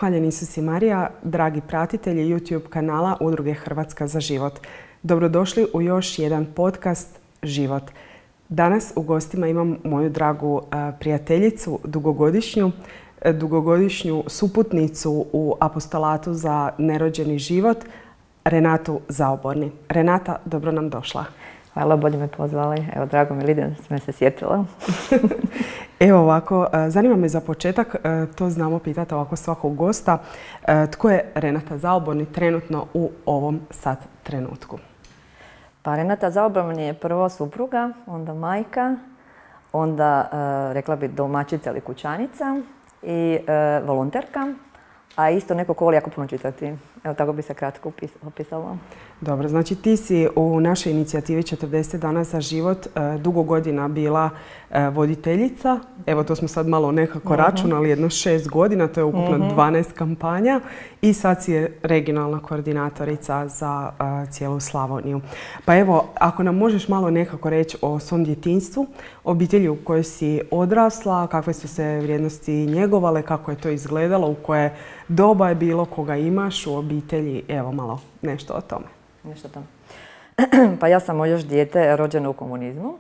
Hvaljen Isus i Marija, dragi pratitelji YouTube kanala Udruge Hrvatska za život. Dobrodošli u još jedan podcast Život. Danas u gostima imam moju dragu prijateljicu, dugogodišnju suputnicu u apostolatu za nerođeni život, Renatu Zaoborni. Renata, dobro nam došla. Hvala, bolje me pozvali. Evo, drago mi Lidija, sam se sjetila. Evo ovako, zanima me za početak, to znamo pitati ovako svakog gosta, tko je Renata Zaoborni trenutno u ovom sad trenutku? Pa Renata Zaoborni je prvo supruga, onda majka, onda rekla bi domaćica ili kućanica i volonterka, a isto neko ko voli jako puno čitati. Evo, tako bi se kratko opisala. Dobro, znači ti si u našoj inicijativi 40 dana za život dugo godina bila voditeljica. Evo, to smo sad malo nekako računali, jedno 6 godina, to je ukupno 12 kampanja. I sad si je regionalna koordinatorica za cijelu Slavoniju. Pa evo, ako nam možeš malo nekako reći o svom djetinjstvu, obitelji u kojoj si odrasla, kakve su se vrijednosti njegovale, kako je to izgledalo, u koje doba je bilo, koga imaš u obitelji, evo malo nešto o tome. Nešto tamo. Pa ja sam još dijete rođeno u komunizmu.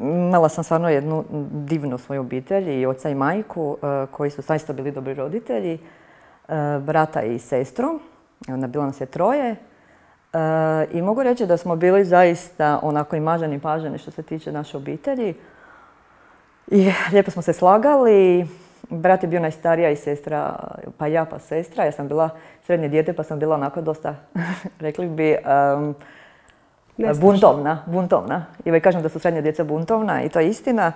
Imala sam stvarno jednu divnu svoju obitelj i oca i majku koji su zaista bili dobri roditelji, brata i sestru. Onda bilo nas je 3. I mogu reći da smo bili zaista onako i maženi i paženi što se tiče naše obitelji. I lijepo smo se slagali. Brat je bio najstarija i sestra, pa ja pa sestra. Ja sam bila srednje dijete pa sam bila onako dosta, rekli bi, buntovna. I uvijek kažem da su srednje djeca buntovna i to je istina.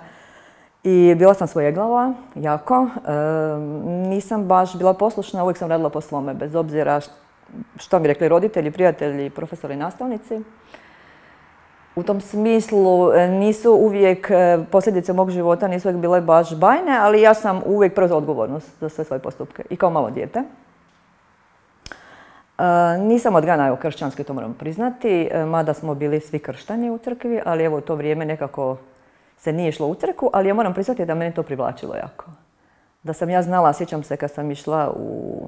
I bila sam svojeglava, jako. Nisam baš bila poslušna, uvijek sam radila po svome, bez obzira što mi rekli roditelji, prijatelji, profesori i nastavnici. U tom smislu nisu uvijek, posljedice mog života nisu uvijek bile baš bajne, ali ja sam uvijek preuzela odgovornost za sve svoje postupke i kao malo dijete. Nisam odgajana kršćanski, to moram priznati, mada smo bili svi krštani u crkvi, ali evo u to vrijeme nekako se nije išlo u crkvu, ali ja moram priznati da mene to privlačilo jako. Da sam ja znala, sjećam se kad sam išla u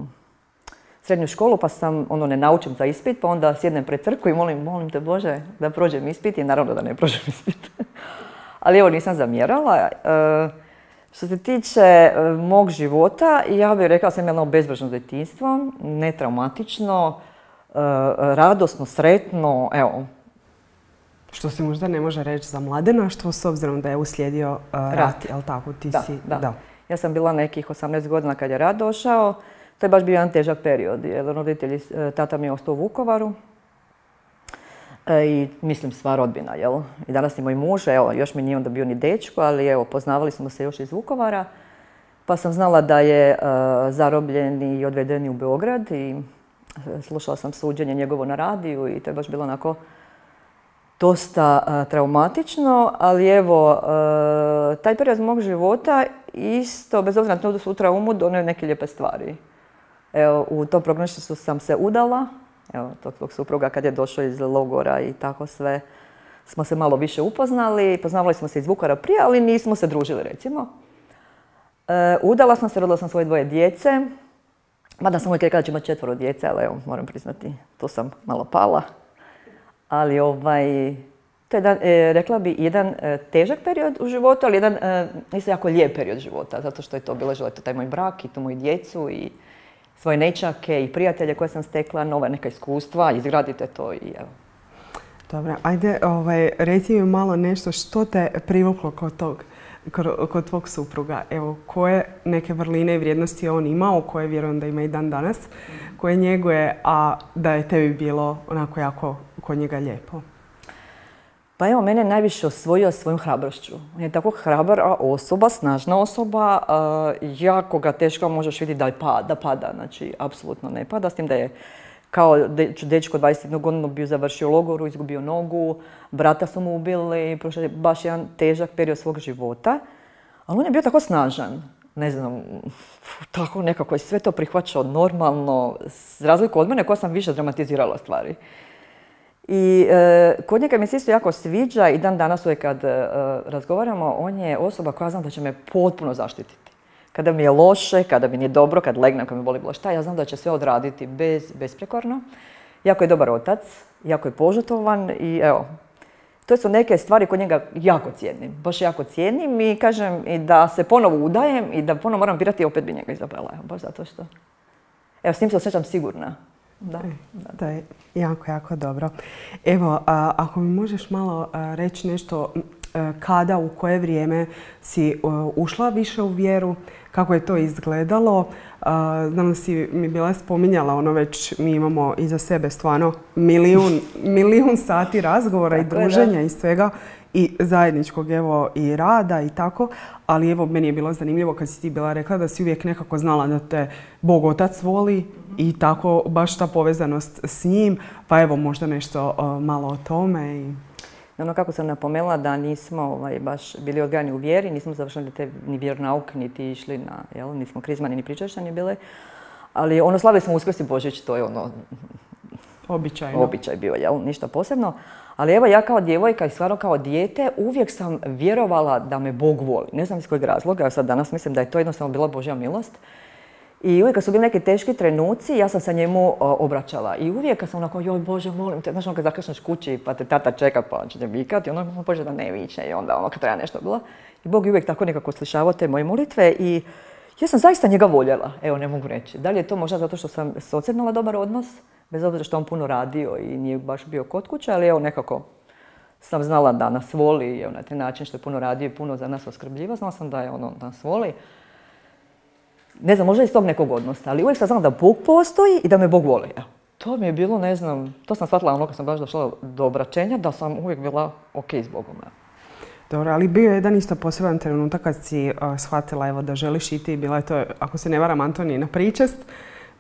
srednju školu pa sam, ne naučim za ispit, pa onda sjednem pred crkvu i molim te Bože da prođem ispit i naravno da ne prođem ispit. Ali evo nisam zamjerala. Što se tiče mog života, ja bih rekla da sam imala bezbrižno djetinjstvo, netraumatično, radosno, sretno, evo. Što se možda ne može reći za mladenaštvo, s obzirom da je uslijedio rat, jel tako? Da. Ja sam bila nekih 18 godina kad je rat došao. To je baš bio jedan težak period, jer roditelji, tata mi je ostao u Vukovaru. I mislim sva rodbina, jel? I danas je moj muž, evo, još mi nije onda bio ni dečko, ali evo, poznavali smo se još iz Vukovara. Pa sam znala da je zarobljen i odveden u Beograd i slušala sam suđenje njegovo na radiju i to je baš bilo onako dosta traumatično, ali evo, taj period mog života isto, bez obzira na tu traumu, donio neke lijepe stvari. Evo, u tom prognašću sam se udala, evo, tog supruga kad je došao iz logora i tako sve, smo se malo više upoznali. Poznavali smo se iz Vukovara prije, ali nismo se družili, recimo. Udala sam se, rodila sam svoje 2 djece, mada sam uvijek rekla da će imati 4 djece, ali evo, moram priznati, tu sam malo pala. Ali to je, rekla bi, jedan težak period u životu, ali jedan isto jako lijep period života, zato što je to bilo želite taj moj brak i tu moju djecu i svoje nećake i prijatelje koje sam stekla, nova neka iskustva, izgradite to i evo. Dobro, ajde, reci mi malo nešto što te privuklo kod tvog supruga. Evo, koje neke vrline i vrijednosti je on imao, koje vjerujem da ima i dan danas, koje njeguje, a da je tebi bilo onako jako kod njega lijepo? Pa evo, mene najviše osvojio svojom hrabrošću. On je tako hrabra osoba, snažna osoba, jako ga teško možeš vidjeti da pada, znači apsolutno ne pada, s tim da je kao dečko 21 godinu bio završio u logoru, izgubio nogu, brata su mu ubili, prošao je baš jedan težak period svog života, ali on je bio tako snažan. Ne znam, tako nekako je sve to prihvaćao normalno, za razliku od mene koja sam više dramatizirala stvari. I kod njega mi se isto jako sviđa i dan danas uvijek kad razgovaramo, on je osoba koja znam da će me potpuno zaštititi. Kada mi je loše, kada mi nije dobro, kad legnem, kad mi boli bilo šta, ja znam da će sve odraditi besprekorno. Jako je dobar otac, jako je požrtvovan i evo, to su neke stvari kod njega jako cijenim. Baš jako cijenim i kažem i da se ponovo udajem i da ponovo moram birati, opet bi njega izabrala. Baš zato što... Evo, s njim se osjećam sigurna. Da. To je jako, jako dobro. Evo, ako mi možeš malo reći nešto, kada, u koje vrijeme si ušla više u vjeru, kako je to izgledalo. Znam da si mi bila spominjala, ono već mi imamo iza sebe stvarno milijun sati razgovora i druženja i svega i zajedničkog evo i rada i tako, ali evo meni je bilo zanimljivo kad si ti bila rekla da si uvijek nekako znala da te Bog Otac voli i tako baš ta povezanost s njim, pa evo možda nešto malo o tome. Ono kako sam napomenula da nismo baš bili odgajani u vjeri, nismo završili ni vjeronauk, niti išli na, nismo krizmani ni pričašćani bili, ali ono slavili smo Uskrs i Božić, to je ono običaj bio, ništa posebno. Ali evo ja kao djevojka i stvarno kao dijete uvijek sam vjerovala da me Bog voli. Ne znam iz kojeg razloga, sad danas mislim da je to jednostavno bila Božja milost. I uvijek kad su bili neki teški trenuci, ja sam se njemu obraćala. I uvijek kad sam onako, joj Bože, molim te, znaš ono kad zakašneš kući pa te tata čeka pa će te vikati, ono Bože da ne viče i onda ono kad treba nešto bilo. I Bog je uvijek tako nekako slišavao te moje molitve i ja sam zaista njega voljela, evo ne mogu reći. Da li je to možda zato što sam s ocem imala dobar odnos, bez obzira što on puno radio i nije baš bio kod kuće, ali evo nekako sam znala da nas voli, evo na taj način što je puno radio i puno za nas oskrbljiva, znala sam da je ono da nas voli. Ne znam, možda iz tog nekog odnosa, ali uvijek sam znala da Bog postoji i da me Bog voli. Evo, to mi je bilo, ne znam, to sam shvatila ono kad sam baš došla do obraćenja, da sam uvijek bila ok s Bogom. Dobro, ali bio je jedan isto poseban trenutak kad si shvatila evo, da želiš iti, bila je to, ako se ne varam, Antonijina pričest,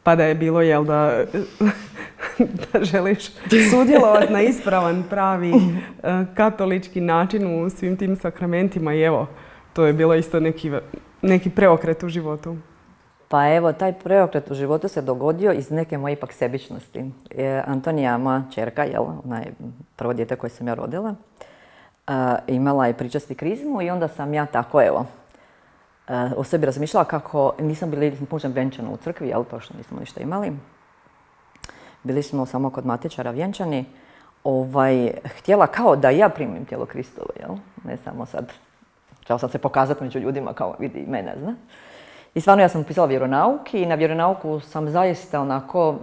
pa da je bilo, jel da želiš sudjelovati na ispravan, pravi katolički način u svim tim sakramentima i evo, to je bilo isto neki preokret u životu. Pa evo, taj preokret u životu se dogodio iz neke moje ipak sebičnosti. Antonija, moja ćerka, ona je prvo dijete koje sam ja rodila, imala je pričest i krizmu i onda sam ja tako, evo, o sebi razmišljala kako nisam bili pužem vjenčana u crkvi, pošto nismo ništa imali. Bili smo samo kod matičara vjenčani. Htjela kao da ja primim tijelo Kristovo, ne samo sad. Htjela sam se pokazati među ljudima kao vidi mene, zna. I stvarno ja sam upisala vjeronauk i na vjeronauku sam zaista onako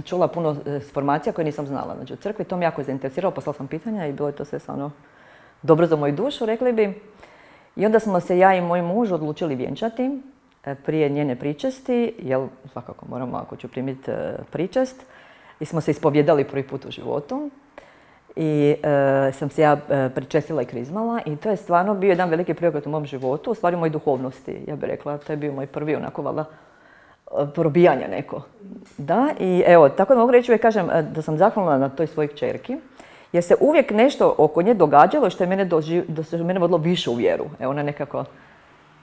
čula puno informacija koje nisam znala. Znači u crkvi to me jako zainteresiralo, poslala sam pitanja i bilo je to sve stvarno dobro za moju dušu, rekli bi. I onda smo se ja i moj muž odlučili vjenčati prije njene pričesti, jer svakako moramo ako ću primiti pričest. I smo se ispovjedali prvi put u životu. I sam se ja pričestila i krizmala i to je stvarno bio jedan veliki preokret u mom životu, u stvari mojoj duhovnosti, ja bih rekla. To je bio moj prvi onako valjda probijanje neko. Da, i evo, tako da mogu reći uvijek kažem da sam zahvalna na toj svojoj kćerki, jer se uvijek nešto oko nje događalo što je mene vodilo više u vjeru. Evo, ona je nekako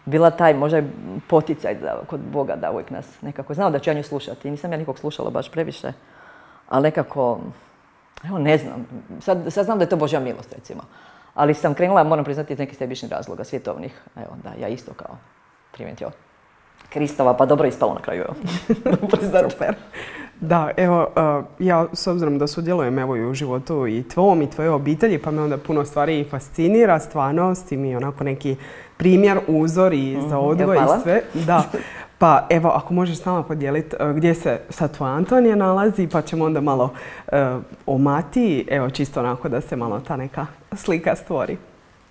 bila taj možda poticaj kod Boga da uvijek nas nekako znao da ću ja nju slušati. I nisam ja nikog slušala baš previše, ali nekako, evo ne znam, sad znam da je to Božja milost recimo. Ali sam krenula, moram priznati, iz nekih sebičnih razloga, svjetovnih. Evo da, ja isto kao primiti Kristova, pa dobro ispalo na kraju. Super. Da, evo, ja s obzirom da sudjelujem evo i u životu i tvom i tvoje obitelji, pa me onda puno stvari fascinira, stvarno, s tim i onako neki primjer, uzor i za odgoj i sve. Da. Pa evo, ako možeš s nama podijeliti gdje se sad tvoja Antonija nalazi, pa ćemo onda malo o Matiji, evo čisto onako da se malo ta neka slika stvori.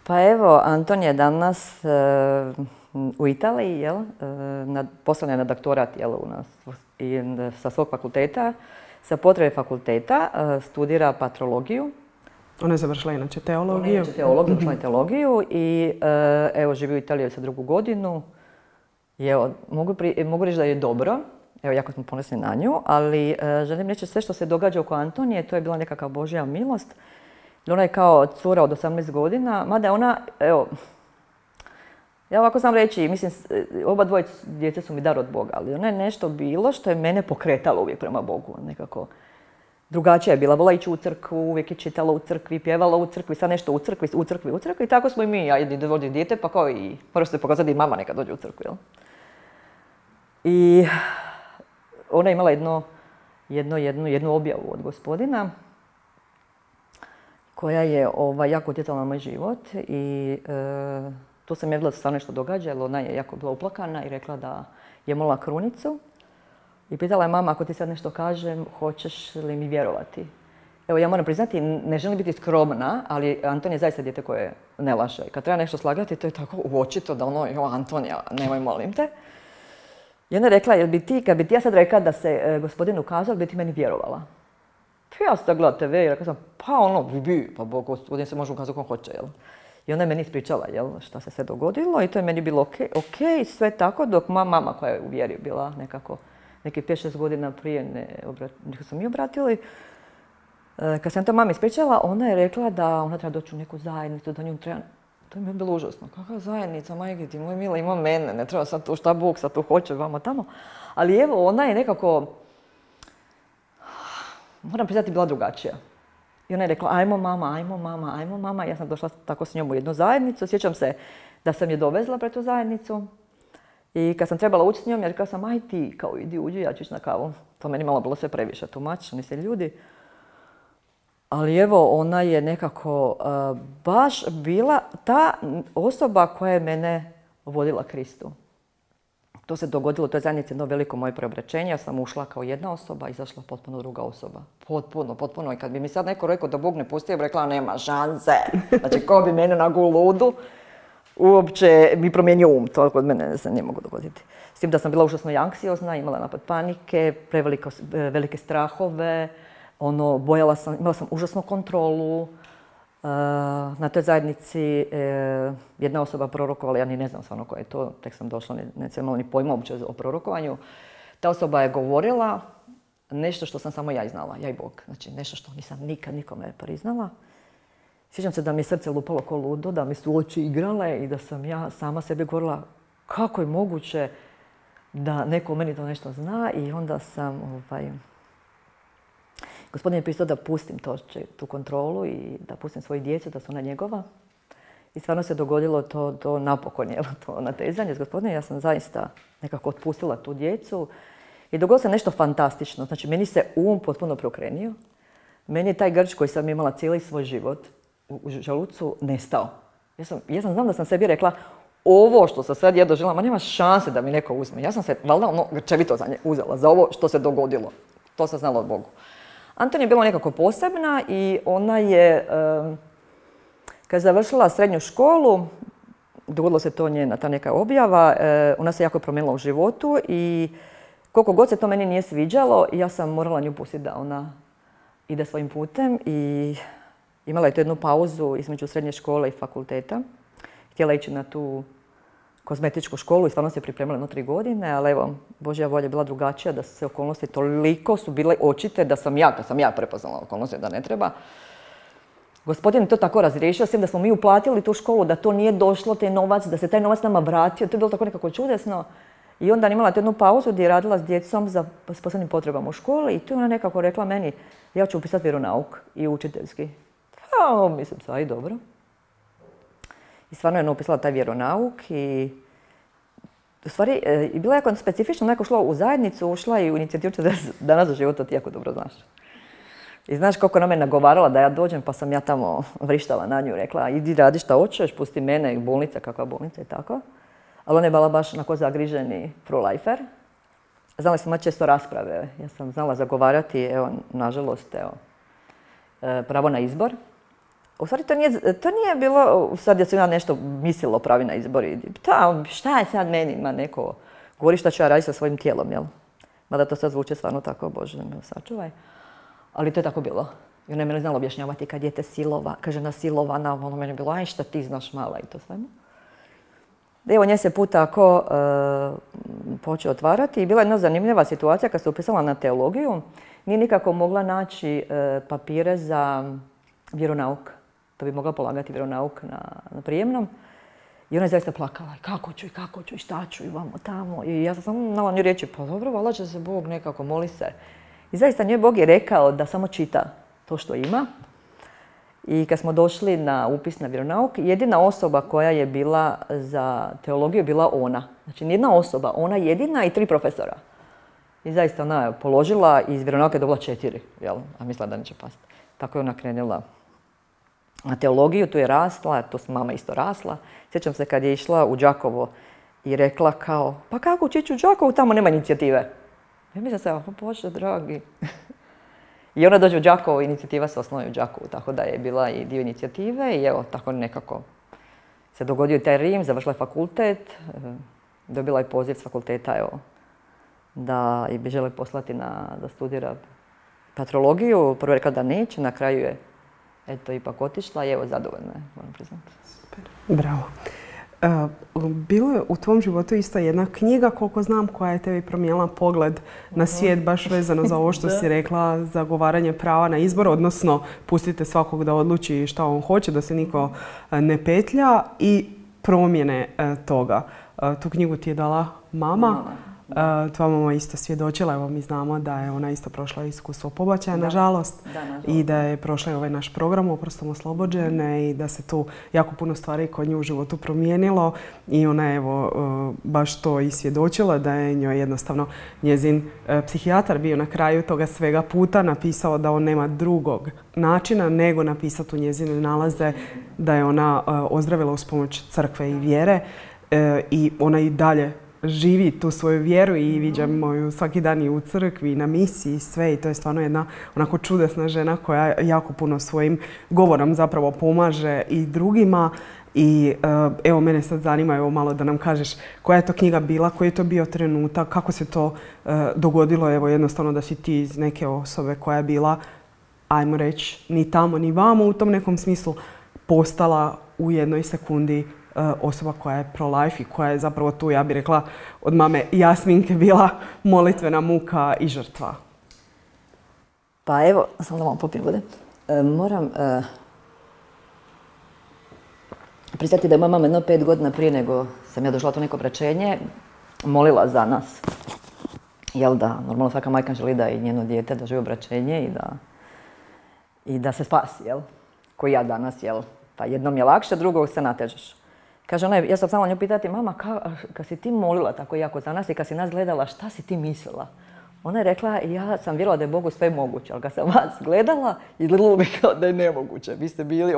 Pa evo, Antonija je danas u Italiji, poslana je na doktorat u nas i sa svog fakulteta, sa potrebe fakulteta, studira patrologiju. Ona je završila inače teologiju. Završila je teologiju i evo živi u Italiji sa 2. godinu. I evo, mogu reći da je dobro, evo jako smo ponosni na nju, ali želim reći sve što se događa oko Antonije, to je bila nekakva Božja milost. Ona je kao cura od 18 godina, mada ona, evo, ja ovako znam reći, mislim, oba dvoje djece su mi dar od Boga, ali ona je nešto bilo što je mene pokretalo uvijek prema Bogu, nekako. Drugačija je bila, vola ići u crkvu, uvijek je čitala u crkvi, pjevala u crkvi, sad nešto u crkvi i tako smo i mi, ajde dođe dijete, pa kao i, moraš se pokazati i mama neka dođe u crkvu, jel? I ona je imala jednu objavu od gospodina koja je jako utjecala na moj život i tu sam je vidjela da se stvarno nešto događa, jer ona je jako bila uplakana i rekla da je molila krunicu. I pitala je mama, ako ti sad nešto kažem, hoćeš li mi vjerovati? Evo, ja moram priznati, ne želim biti skromna, ali Anton je zaista dijete koje ne laže. Kad treba nešto slagati, to je tako uočito da Antonija, nemoj molim te. I ona je rekla, kad bi ti ja sad rekla da se gospodin ukazao, bi ti meni vjerovala? Ja sam da gledala TV i rekla sam, pa gospodin se može ukazati kako hoće, jel? I ona je meni ispričala, jel, šta se sve dogodilo i to je meni bilo ok, sve tako, dok moja mama koja je u vjeri bila nekako neki 5-6 godina prije nego smo mi obratili. Kad sam to mami ispričala, ona je rekla da ona treba doći u neku zajednicu, da nju treba... To mi je bilo užasno. Kakva zajednica, majke ti, moj mila, ima mene, ne treba sad tu šta Bog sad tu hoće, vamo tamo. Ali evo, ona je nekako, moram priznati, bila drugačija. I ona je rekla, ajmo mama. Ja sam došla tako s njom u jednu zajednicu. Sjećam se da sam je dovezla pred tu zajednicu. I kad sam trebala ući s njom, ja rekla sam, aj ti, kao idi, uđi, ja ću ići na kavu. To meni malo bilo sve previše, tumač, nisi ljudi. Ali evo, ona je nekako baš bila ta osoba koja je mene vodila Kristu. To se dogodilo u toj zajednici jedno veliko moje preobraćenje. Ja sam ušla kao jedna osoba, izašla potpuno druga osoba. Potpuno. I kad bi mi sad neko rekao da Bog ne pusti, ja bi rekla, nema šanse. Znači, ko bi mene na ludu, uopće mi promijenio to kod mene se ne mogu dogoditi. S tim da sam bila užasno anksiozna, imala napad panike, velike strahove, imala sam užasnu kontrolu. Na toj zajednici jedna osoba prorokovala, ja ni ne znam stvarno ko je to, tek sam došla, ne sam imala ni pojma uopće o prorokovanju. Ta osoba je govorila nešto što sam samo ja i znala, ja i Bog. Znači nešto što nisam nikad nikome priznala. Sjećam se da mi je srce lupalo ko ludo, da mi su oči igrale i da sam ja sama sebi govorila kako je moguće da neko o meni to nešto zna i onda sam Gospodin je pisao da pustim tu kontrolu i da pustim svoju djecu, da su ona njegova. I stvarno se dogodilo to napokon, to natezanje s Gospodinom. Ja sam zaista nekako otpustila tu djecu i dogodilo se nešto fantastično. Znači, meni se potpuno preokrenio. Meni je taj grč koji sam imala cijeli svoj život u želucu nestao. Ja sam znam da sam sebi rekla, ovo što sam sad ja doživjela, ma nema šanse da mi neko uzme. Ja sam se valjda grčevito uzela za ovo što se dogodilo. To sam znala od Bogu. Anton je bila nekako posebna i ona je, kad je završila srednju školu, dogodilo se to njena ta neka objava, ona se jako promijenila u životu i koliko god se to meni nije sviđalo, ja sam morala nju pustiti da ona ide svojim putem i imala je tu jednu pauzu između srednje škole i fakulteta. Htjela ići na tu kozmetičku školu i stvarno se pripremala 3 godine, ali evo, Božja volja je bila drugačija, da se okolnosti toliko su bile očite da sam ja prepoznala okolnosti da ne treba. Gospodin je to tako razriješio, s tim da smo mi uplatili tu školu, da to nije došlo, taj novac, da se taj novac nama vratio, to je bilo tako nekako čudesno. I onda je imala jednu pauzu gdje je radila s djecom s posebnim potrebama u školi i tu je ona nekako rekla meni, ja ću upisati vjeronauk i učiteljski. Pa, mislim, sve i dobro. I stvarno je upisala taj vjeronauk i u stvari bila je jako specifično, neko šla u zajednicu, ušla i u inicijativu 40 dana za život, to ti jako dobro znaš. I znaš koliko ona me nagovarala da ja dođem, pa sam ja tamo vrištala na nju, rekla idi radi šta hoćeš, pusti mene, bolnica, kakva bolnica i tako. Ali ona je bila baš onako zagriženi pro-lifer. Znala sam imati često rasprave, ja sam znala zagovarati, evo, nažalost, evo, pravo na izbor. U stvari to nije bilo, sad ja sam ja nešto mislila o pravi na izbor i šta je sad meni, ima neko, govori šta ću ja raditi sa svojim tijelom, jel? Mada to sad zvuče stvarno tako, Bože, me sačuvaj. Ali to je tako bilo. I ona je meni znala objašnjavati kad dijete žena silovana, ono meni je bilo, aj šta ti znaš mala i to svemu. Evo, nje se put tako počeo otvarati i bila je jedna zanimljiva situacija kad se upisala na teologiju. Nije nikako mogla naći papire za vjeronauk, da bi mogla polagati vjeronauk na prijemnom. I ona je zaista plakala, kako ću i šta ću i vamo tamo. I ja sam samo znala nju reći, pa dobro, valjda će se Bog nekako, moli se. I zaista njoj Bog je rekao da samo čita to što ima. I kad smo došli na upis na vjeronauk, jedina osoba koja je bila za teologiju je bila ona. Znači, nijedna osoba, ona jedina i 3 profesora. I zaista ona je položila i iz vjeronauke je dobila 4, jel? A mislila da neće pasti. Tako je ona krenula na teologiju, tu je rasla, tu s mama isto rasla. Sjećam se kad je išla u Đakovo i rekla kao, pa kako će ići u Đakovo, tamo nema inicijative. Ja mislim se, Bože dragi. I ona dođe u Đakovo, inicijativa se osnuje u Đakovu, tako da je bila i dio inicijative i evo, tako nekako se dogodio taj Rim, završila je fakultet, dobila je poziv s fakulteta, evo, da bi žele poslati da studira patrologiju. Prvo je rekla da neće, na kraju je eto ipak otišla i evo zadovoljna je, moram priznati. Super, bravo. Bilo je u tvom životu isto jedna knjiga, koliko znam, koja je tebi promijenila pogled na svijet, baš vezano za ovo što si rekla, zagovaranje prava na izbor, odnosno pustite svakog da odluči šta on hoće, da se niko ne petlja i promjene toga. Tu knjigu ti je dala mama. Tvoja mama isto svjedočila, evo mi znamo da je ona isto prošla iskustvo pobačaja, nažalost, i da je prošla i ovaj naš program Oprostom oslobođene i da se tu jako puno stvari kod nje u životu promijenilo i ona je evo baš to i svjedočila, da je njoj jednostavno njezin psihijatar bio na kraju toga svega puta napisao da on nema drugog načina nego napisati u njezine nalaze da je ona ozdravila uz pomoć crkve i vjere i ona i dalje živi tu svoju vjeru i viđamo ju svaki dan i u crkvi i na misiji i sve i to je stvarno jedna onako čudesna žena koja jako puno svojim govorom zapravo pomaže i drugima i evo mene sad zanima evo malo da nam kažeš koja je to knjiga bila, koji je to bio trenutak, kako se to dogodilo evo jednostavno da si ti iz neke osobe koja je bila, ajmo reći, ni tamo ni vamo u tom nekom smislu postala u jednoj sekundi osoba koja je pro-life i koja je zapravo tu, ja bih rekla, od mame Jasminke bila molitvena muka i žrtva. Pa evo, samo da malo popijem vode. Moram priznati da je moja mama jedno 5 godina prije nego sam ja došla to neko obraćenje, molila za nas. Jel da, normalno svaka majka želi da i njeno dijete doživi obraćenje i da se spasi, jel? Koji ja danas, jel? Pa jednom je lakše, drugog se natežeš. Kaže ona, ja sam samo nju pitati, mama, kad si ti molila tako jako za nas i kad si nas gledala, šta si ti mislila? Ona je rekla, ja sam vjerovala da je Bogu sve moguće, ali kad sam vas gledala, izgledalo mi kao da je nemoguće. Vi ste bili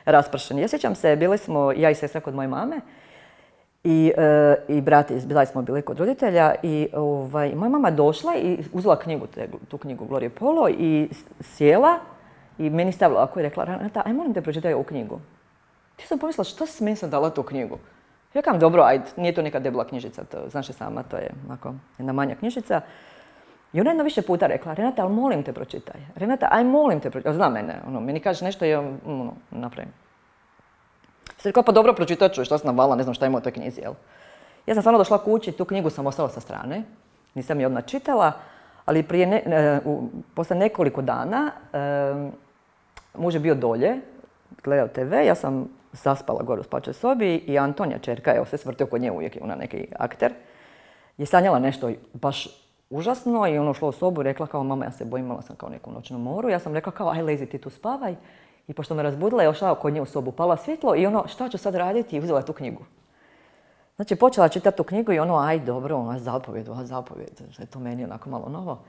raspršeni. Ja sjećam se, bili smo ja i sestra kod moje mame i brat, bila smo bili kod roditelja i moja mama došla i uzela knjigu, tu knjigu Glorie Polo i sjela i meni stavila ovako i rekla, Renata, aj molim te pročitaj ovu knjigu. Ti sam pomislila, što si meni sam dala tu knjigu? Ja kam, dobro, ajde, nije to neka debela knjižica, to, znaš je sama, to je onako jedna manja knjižica. I ona jedno više puta rekla, Renata, ali molim te pročitaj. Renata, aj molim te pročitaj. Zna mene, meni kaže nešto i ja napravim. Sad rekla, pa dobro, pročitat ću, šta sam navala, ne znam šta ima u toj knjizi, jel? Ja sam stvarno došla kući, tu knjigu sam ostala sa strane, nisam je odmah čitala, ali posle nekoliko dana muž je bio dolje, gledao TV, ja sam zaspala gore u spačoj sobi i Antonija, čerka, evo se vrti oko nje, uvijek je ona neki akter, je sanjala nešto baš užasno i ušla u sobu i rekla kao, mama, ja se bojim, imala sam kao neku noćnu moru. Ja sam rekla kao, aj lezi ti tu spavaj. I pošto me razbudila, je ošla kod nje u sobu, pala svjetlo i šta ću sad raditi? I uzela tu knjigu. Znači, počela čitati tu knjigu i aj dobro, zapovjed, je to meni onako malo novo.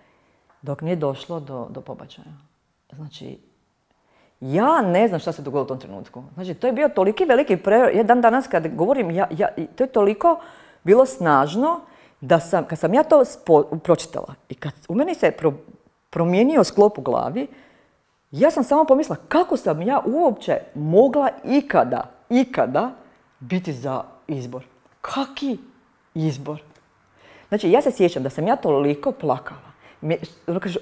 Dok nije došlo do pobačaja. Znači, ja ne znam šta se dogodilo u tom trenutku. Znači, to je bio toliki veliki ja dan danas kad govorim, to je toliko bilo snažno da kad sam ja to pročitala i kad u meni se promijenio sklop u glavi, ja sam samo pomislila kako sam ja uopće mogla ikada biti za izbor. Kaki izbor? Znači, ja se sjećam da sam ja toliko plakala.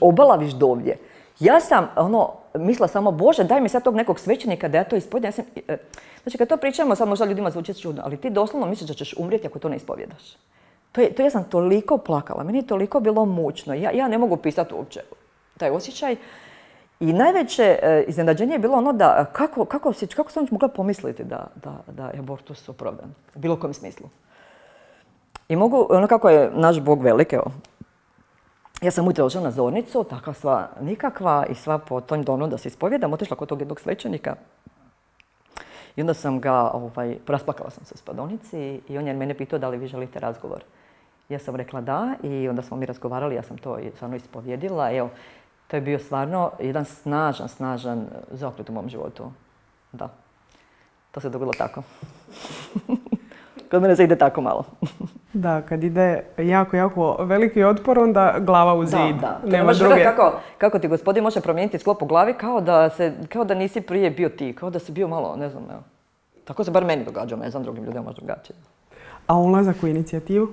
Obalaviš dovdje. Ja sam mislila samo, Bože, daj mi sad tog nekog svećenika da ja to ispovjedam. Znači, kad to pričamo, sad možda ljudima zvuči čudno, ali ti doslovno misliš da ćeš umrijeti ako to ne ispovjedaš. Ja sam toliko plakala, meni je toliko bilo mučno. Ja ne mogu pisati uopće taj osjećaj. I najveće iznenađenje je bilo da kako sam mogla pomisliti da je abortus opravdan, u bilo kojem smislu. I mogu, kako je naš Bog velik, evo. Ja sam ujutro došla na zornicu, takva sva nikakva i sva po tom donu da se ispovjedam, otišla kod tog jednog svećenika. I onda sam ga, rasplakala sam se u spavaonici i on je mene pitao da li vi želite razgovor. Ja sam rekla da i onda smo mi razgovarali, ja sam to stvarno ispovjedila. Evo, to je bio stvarno jedan snažan zaokret u mom životu. Da, to se dogodilo tako. Kod mene se ide tako malo. Da, kad ide jako veliki otpor, onda glava u zid. Da. Nema druge. Kako ti gospodin može promijeniti sklop u glavi kao da nisi prije bio ti, kao da si bio malo, ne znam, evo. Tako se bar meni događa, ne znam, drugim ljudima možda drugačije. A ulazak u inicijativu?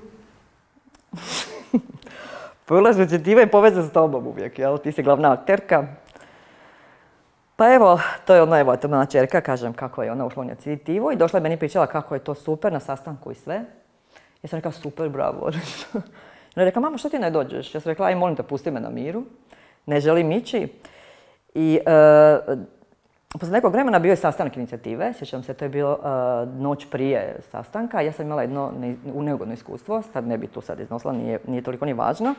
Ulazak u inicijativu je povezan s tobom uvijek, jel? Ti si glavna akterka. Pa evo, to je ona čerka, kažem kako je ona ušla u inicijativu i došla je meni pričala kako je to super na sastanku i sve. Ja sam rekla super, bravo. Ona je rekla, mama, što ti ne dođeš? Ja sam rekla, aj molim te, pusti me na miru. Ne želim ići. I poslije nekog vremena bio je sastanak inicijative. Sjećam se, to je bilo noć prije sastanka. Ja sam imala jedno neugodno iskustvo, sad ne bi tu sad iznosila, nije toliko ni važno,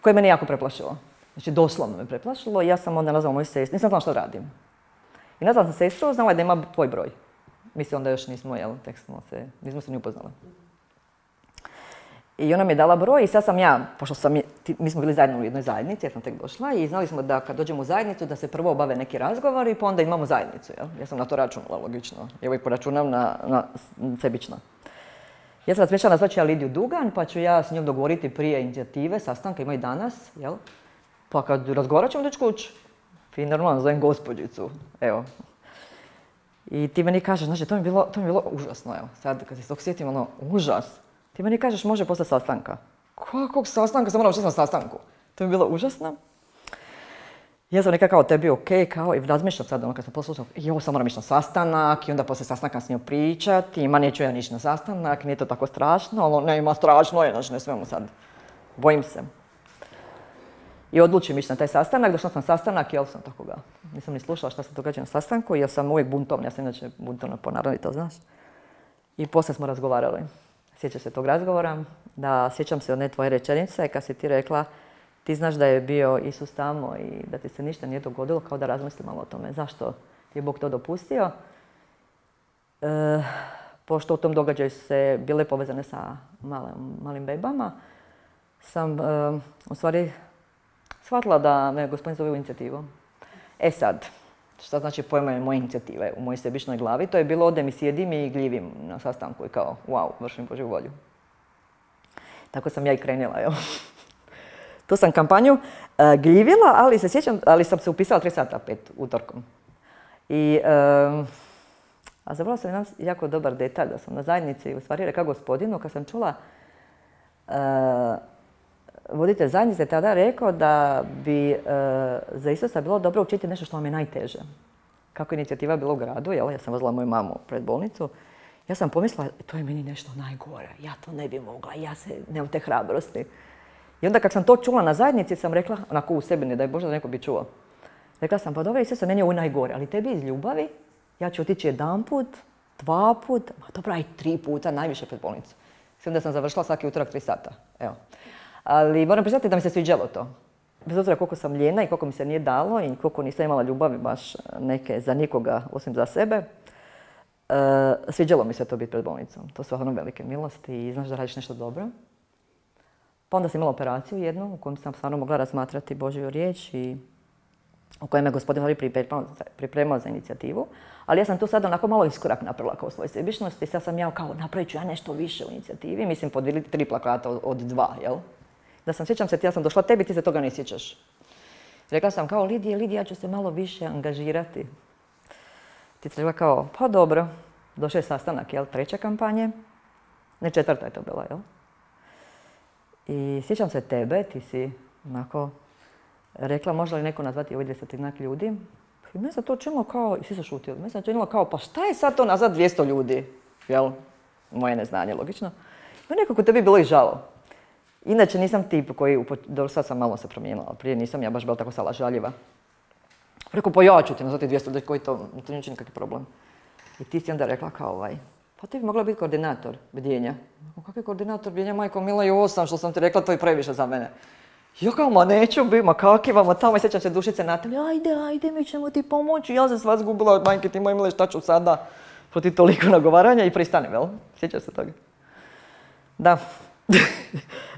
koje mene jako preplašilo. Znači, doslovno me preplašilo i ja sam onda nazvala moju sestru, nisam znala što radim. I nazvala sam sestru, znala je da ima tvoj broj. Mislim, onda još nismo, nismo se ni upoznali. I ona mi je dala broj i sad sam ja, pošto mi smo bili zajedno u jednoj zajednici, ja sam tek došla i znali smo da kad dođemo u zajednicu da se prvo obave neki razgovori pa onda imamo zajednicu, jel? Ja sam na to računala, logično. I uvijek poračunam na sebično. Ja sam razmišljala nazvaći ja Lidiju Dugan, pa ću ja s njom dogovoriti prije inicijative, sastanka, ima i danas, jel? Pa kad razgovarat ćemo doći kući. I normalno zovem gospođicu, evo. I ti meni kažeš, znači, to mi je bilo užasno, evo. Sad kad se tog sjetim, ono, užas. Ti meni kažeš, može posle sastanka. Kakvog sastanka? Sam moram učiti na sastanku. To mi je bilo užasno. Ja sam nekako tebi okej, kao i razmišljam sad, ono kad sam poslušala, sam moram ići na sastanak i onda poslije sastanka s njom pričati, neću ja nići na sastanak, nije to tako strašno, ali ne ima strašno je, znači ne smijemo sad. Bojim se. I odlučim ići na taj sastanak, došla sam na sastanak, jel sam tako ga. Nisam ni slušala šta se događa na sastanku, jer sam uvijek buntovna, ja sam inače buntovna po naravi, to znaš. I poslije smo razgovarali. Sjećam se tog razgovora, da sjećam se one tvoje rečenice kad si ti rekla ti znaš da je bio Isus tamo i da ti se ništa nije dogodilo, kao da razmisli malo o tome. Zašto je Bog to dopustio? Pošto u tom događaju se bile povezane sa malim bebama, sam u stvari shvatila da me Gospodin zove u inicijativu. E sad, šta znači pojma moje inicijative u mojoj sebičnoj glavi? To je bilo odem i sjedim i gljivim na sastanku i kao, wow, vršim Božju volju. Tako sam ja i krenula, jel? Tu sam kampanju gljivila, ali sam se upisala 3 sata 5 utorkom. A zavrala sam jedan jako dobar detalj, da sam na zajednici u stvari rekla Gospodinu, kad sam čula voditelj zajednice tada rekao da bi za Isusa bilo dobro učiti nešto što vam je najteže. Kako je inicijativa bila u gradu, jel? Ja sam vozila moju mamu pred bolnicu. Ja sam pomislila, to je meni nešto najgore, ja to ne bi mogla, ja nemam te hrabrosti. I onda kad sam to čula na zajednici sam rekla, onako u sebi, ne daj Bože da neko bi čuo. Rekla sam, pa dobro Isuse, meni je ovo najgore, ali tebi iz ljubavi ja ću otići 1 put, 2 put, dobro aj 3 puta, najviše pred bolnicu. Mislim da sam završila svaki utorak 3 sata, evo. Ali moram priznati da mi se sviđalo to. Bez obzira koliko sam ljena i koliko mi se nije dalo i koliko nisam imala ljubavi baš neke za nikoga osim za sebe, sviđalo mi se to biti pred bolnicom. To su stvarno velike milosti i znaš da radiš nešto dobro. Pa onda sam imala operaciju jednu u kojom sam stvarno mogla razmatrati Božju riječ i u kojem je Gospodin pripremao za inicijativu. Ali ja sam tu sad onako malo iskorak napravila kao svoje sebičnosti. Sad sam ja kao napravit ću ja nešto više u inicijativi. Mislim, podijeliti 3 plakata od 2, jel? Da sam, sjećam se, ja sam došla tebi, ti se toga ne sjećaš. Rekla sam kao, Lidija, ja ću se malo više angažirati. Ti si rekla kao, pa dobro. Došao je sastanak, jel, 3. kampanje. Ne, 4. je to bila, jel? I sjećam se tebe, ti si onako rekla, može li neko nazvati ovih 200 ljudi? I mene sam to činilo kao, i svi su šutili, mene sam činilo kao, pa šta je sad to nazvat 200 ljudi? Jel? Moje neznanje, logično. Mene nekako tebi bilo i žalo. Inače nisam tip koji, dobro sad sam malo se promijenila, ali prije nisam ja baš bila tako salažaljiva. Rekao, pa ja ću ti nazvati 200 ljudi, koji to neće nikakvi problem. I ti si onda rekla kao pa ti bi mogla biti koordinator bdjenja. Kakav koordinator bdjenja, majko mila i 8, što sam ti rekla, to je previše za mene. Ja kao, ma neću bi, ma kakvi vamo tamo, i sjećam se Dušice Natalje, ajde, mi ćemo ti pomoći. Ja sam sva zgubila, majke ti moje mile, šta ću sada protiv toliko nagovaranja i pristanem, jel? Sjećam se toga. Da.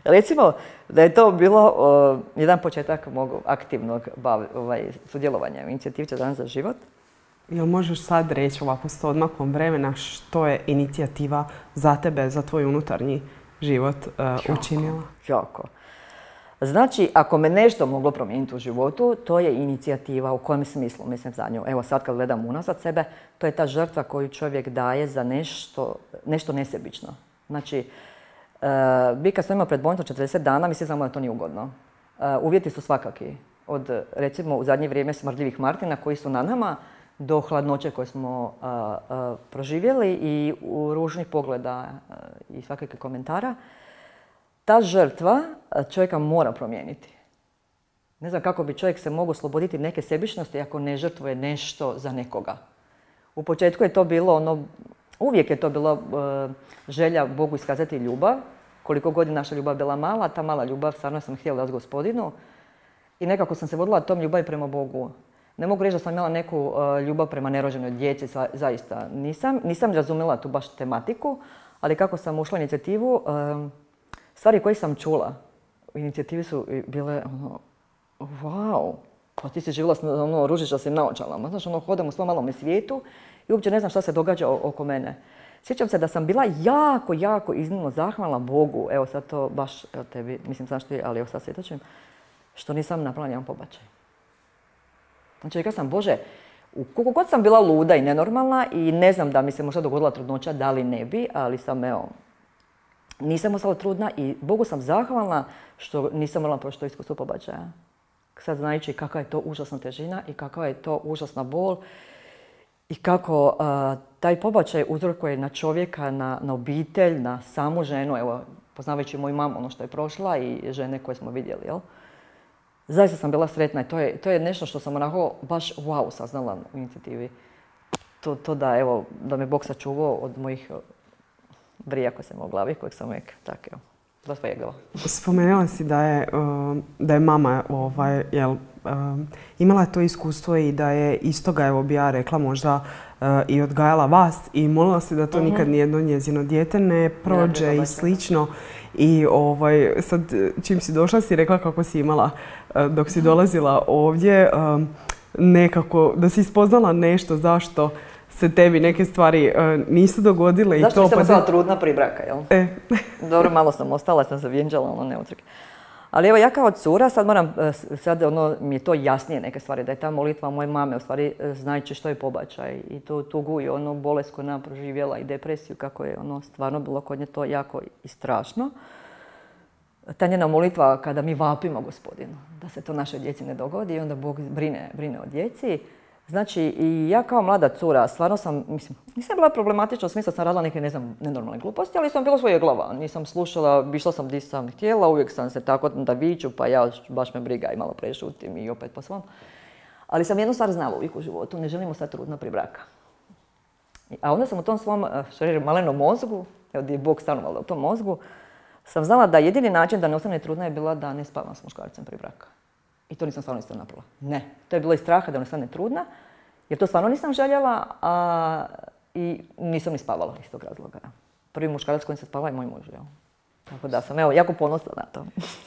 Recimo da je to bilo jedan početak mog aktivnog sudjelovanja u inicijativi 14 dana za život. Jel možeš sad reći ovako s odmakom vremena što je inicijativa za tebe, za tvoj unutarnji život učinila? Jako. Znači, ako me nešto moglo promijeniti u životu, to je inicijativa. U kojem smislu, mislim, za nju. Evo sad kad gledam unazad sebe, to je ta žrtva koju čovjek daje za nešto nesebično. Znači, mi kad smo imali pred bolnicom 40 dana, mi se znamo da to nije ugodno. Uvjeti su svakaki. Od, recimo, u zadnje vrijeme smrdljivih Martina koji su na nama, do hladnoće koje smo proživjeli i u ružnih pogleda i svakakvih komentara. Ta žrtva čovjeka mora promijeniti. Ne znam kako bi čovjek se mogao osloboditi neke sebičnosti ako ne žrtvuje nešto za nekoga. U početku je to bilo uvijek je to bilo želja Bogu iskazati ljubav. Koliko god je naša ljubav bila mala, ta mala ljubav stvarno sam htjela dati Gospodinu. I nekako sam se vodila tom ljubavi prema Bogu. Ne mogu reći da sam imala neku ljubav prema nerođenoj djeci, zaista nisam razumjela tu baš tematiku, ali kako sam ušla u inicijativu, stvari koje sam čula u inicijativi su bile wow, pa ti si živjela ružiča sam naočalama. Znaš, hodam u svom malom svijetu i uopće ne znam šta se događa oko mene. Sjećam se da sam bila jako iznimno zahvalna Bogu, evo sad to baš tebi, mislim znaš ti, ali evo sad svjetočim, što nisam napravila nijedan pobačaj. Znači, rekla sam, Bože, koliko god sam bila luda i nenormalna i ne znam da mi se možda dogodila trudnoća, da li ne bi, ali nisam ostala trudna i Bogu sam zahvalna što nisam morala proći to iskustvo pobačaja. Sad znajući kakva je to užasna težina i kakva je to užasna bol i kako taj pobačaj uzrokuje na čovjeka, na obitelj, na samu ženu, evo, poznavajući moju mamu, ono što je prošla i žene koje smo vidjeli, jel? Zaista sam bila sretna i to je nešto što sam onako baš wow saznala u inicijativi. To da, evo, da me Bog sačuvao od mojih brija koje sam imala u glavi, kojeg sam uvijek tako, evo, zasvojegala. Spomenula si da je mama imala to iskustvo i da je iz toga, evo bi ja rekla, možda i odgajala vas i molila si da to nikad nijedno njezino dijete ne prođe i slično. I sad čim si došla si rekla kako si imala dok si dolazila ovdje nekako da si spoznala nešto zašto se tebi neke stvari nisu dogodile. Zašto nisam ostala trudna prije braka, jel? Dobro, malo sam ostala, sam se vjenčala, ne utrke. Ali evo ja kao cura sad moram, mi je to jasnije neke stvari, da je ta molitva moje mame, u stvari znajući što je pobačaj i tu tugu i bolest koju nam proživjela i depresiju, kako je stvarno bilo kod nje to jako i strašno. Ta njena molitva kada mi vapimo Gospodinu, da se to našoj djeci ne dogodi i onda Bog brine o djeci. Znači, i ja kao mlada cura, stvarno sam, nisam bila problematična, u smislu sam radila neke, nenormalne gluposti, ali sam bila svoje glava. Nisam slušala, išla sam gdje sam htjela, uvijek sam se tako da viču, pa ja baš me briga i malo prešutim i opet po svom. Ali sam jednu stvar znala uvijek u životu, ne želimo sad trudna prije braka. A onda sam u tom svom, malenom mozgu, evo gdje je Bog stvarno u tom mozgu, sam znala da jedini način da ne ostane trudna je bila da ne spavam s muškarcem prije braka. I to nisam stvarno isto napravila. Ne. To je bilo iz straha da ne ostane trudna, jer to stvarno nisam željela i nisam ni spavala iz tog razloga. Prvi muškarac s kojim se spava je moj muž. Tako da sam jako ponosna na to.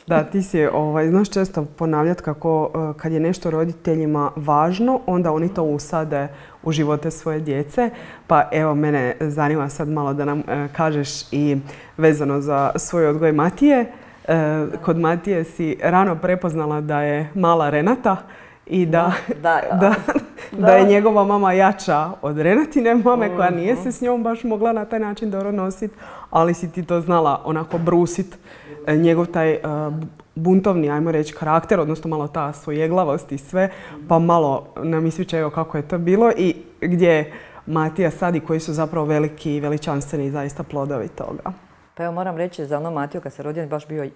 Da, ti si znaš često ponavljati kako kad je nešto roditeljima važno, onda oni to usade u živote svoje djece. Pa evo, mene zanima sad malo da nam kažeš i vezano za svoj odgoj Matije. Kod Matije si rano prepoznala da je mala Renata i da je njegova mama jača od Renatine mame koja nije se s njom baš mogla na taj način dobro nositi, ali si ti to znala onako brusit njegov taj buntovni, ajmo reći, karakter, odnosno malo ta svojeglavost i sve, pa malo nam ispričaj kako je to bilo i gdje Matija sad i koji su zapravo veliki i veličanstveni zaista plodovi toga. Pa evo moram reći za Matiju kad se rodio baš bio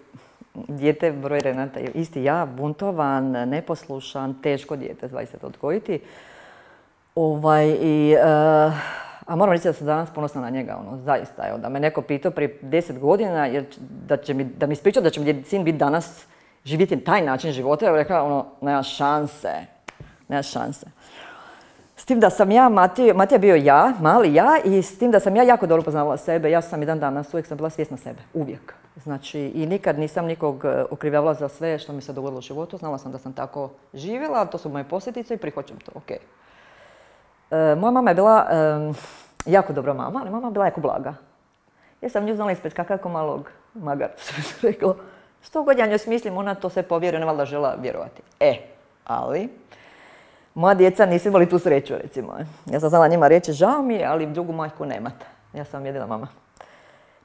dijete broj Renata. Isti ja, buntovan, neposlušan, teško dijete, zaista odgojiti. A moram reći da sam danas ponosna na njega, zaista. Evo, da me neko pitao prije 10 godina, da mi ispričao da će mi sin biti danas živjeti taj način života, ja bih rekla, ono, nema šanse. Nema šanse. S tim da sam ja, Matija je bio ja, mali ja, i s tim da sam ja jako dobro poznavala sebe. Ja sam i dan danas, uvijek sam bila svjesna sebe. Uvijek. Znači, i nikad nisam nikog okrivljavala za sve što mi se dogodilo u životu. Znala sam da sam tako živjela, to su moje posljedice i prihvaćam to, ok. Moja mama je bila jako dobra mama, ali mama je bila jako blaga. Ja sam nju znala ispred kako malog magara, što bi se reklo. Što god ja njoj smislim, ona to sve povjeruje, ne valjda žela vjerovati. Ali, moja djeca nisu imali tu sreću, recimo. Ja sam znala njima reći, žao mi je, ali drugu majku nemate. Ja sam jedina mama.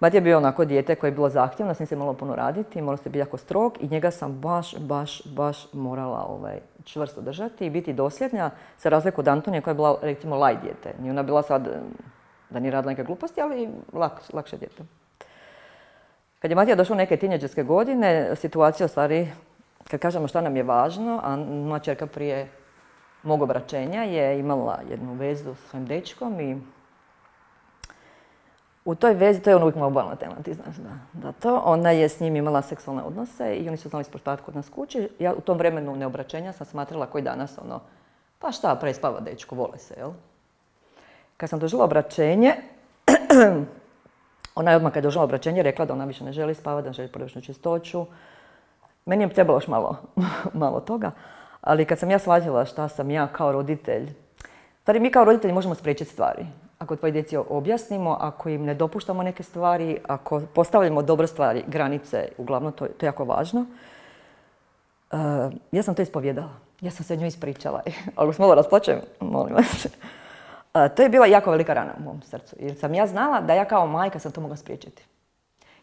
Matija je bio onako dijete koje je bilo zahtjevno, s njim se moralo puno raditi, moralo se biti jako strog i njega sam baš morala čvrsto držati i biti dosljedna, za razliku od Antonije koja je bila, recimo, light dijete. Nije ona bila sad da nije radila neke gluposti, ali lakše dijete. Kad je Matija došao u neke tinejdžerske godine, situacija u stvari, kad kažemo šta nam je važno, a moja čerka prije mog obraćenja je imala jednu vezu s svojim dečkom i u toj vezi, to je ono uvijek moja obalna tema, ti znaš da to, ona je s njim imala seksualne odnose i oni su znali sportati kod nas kući. Ja u tom vremenu neobraćenja sam smatrala koji danas pa šta, prespava dečko, vole se, jel? Kad sam doživjela obraćenje, ona je odmah kad je doživjela obraćenje rekla da ona više ne želi spavati, da ne želi porodičnu čistoću. Meni je trebalo još malo toga, ali kad sam ja shvatila šta sam ja kao roditelj, stvari mi kao roditelji možemo spriječiti stvari. Ako tvoji djeci objasnimo, ako im ne dopuštamo neke stvari, ako postavljamo dobre stvari, granice, uglavnom to je jako važno. Ja sam to ispovjedala. Ja sam se njoj ispričala. Ali malo rasplačem, molim vas. To je bila jako velika rana u mom srcu. Jer sam ja znala da ja kao majka sam to mogla spriječiti.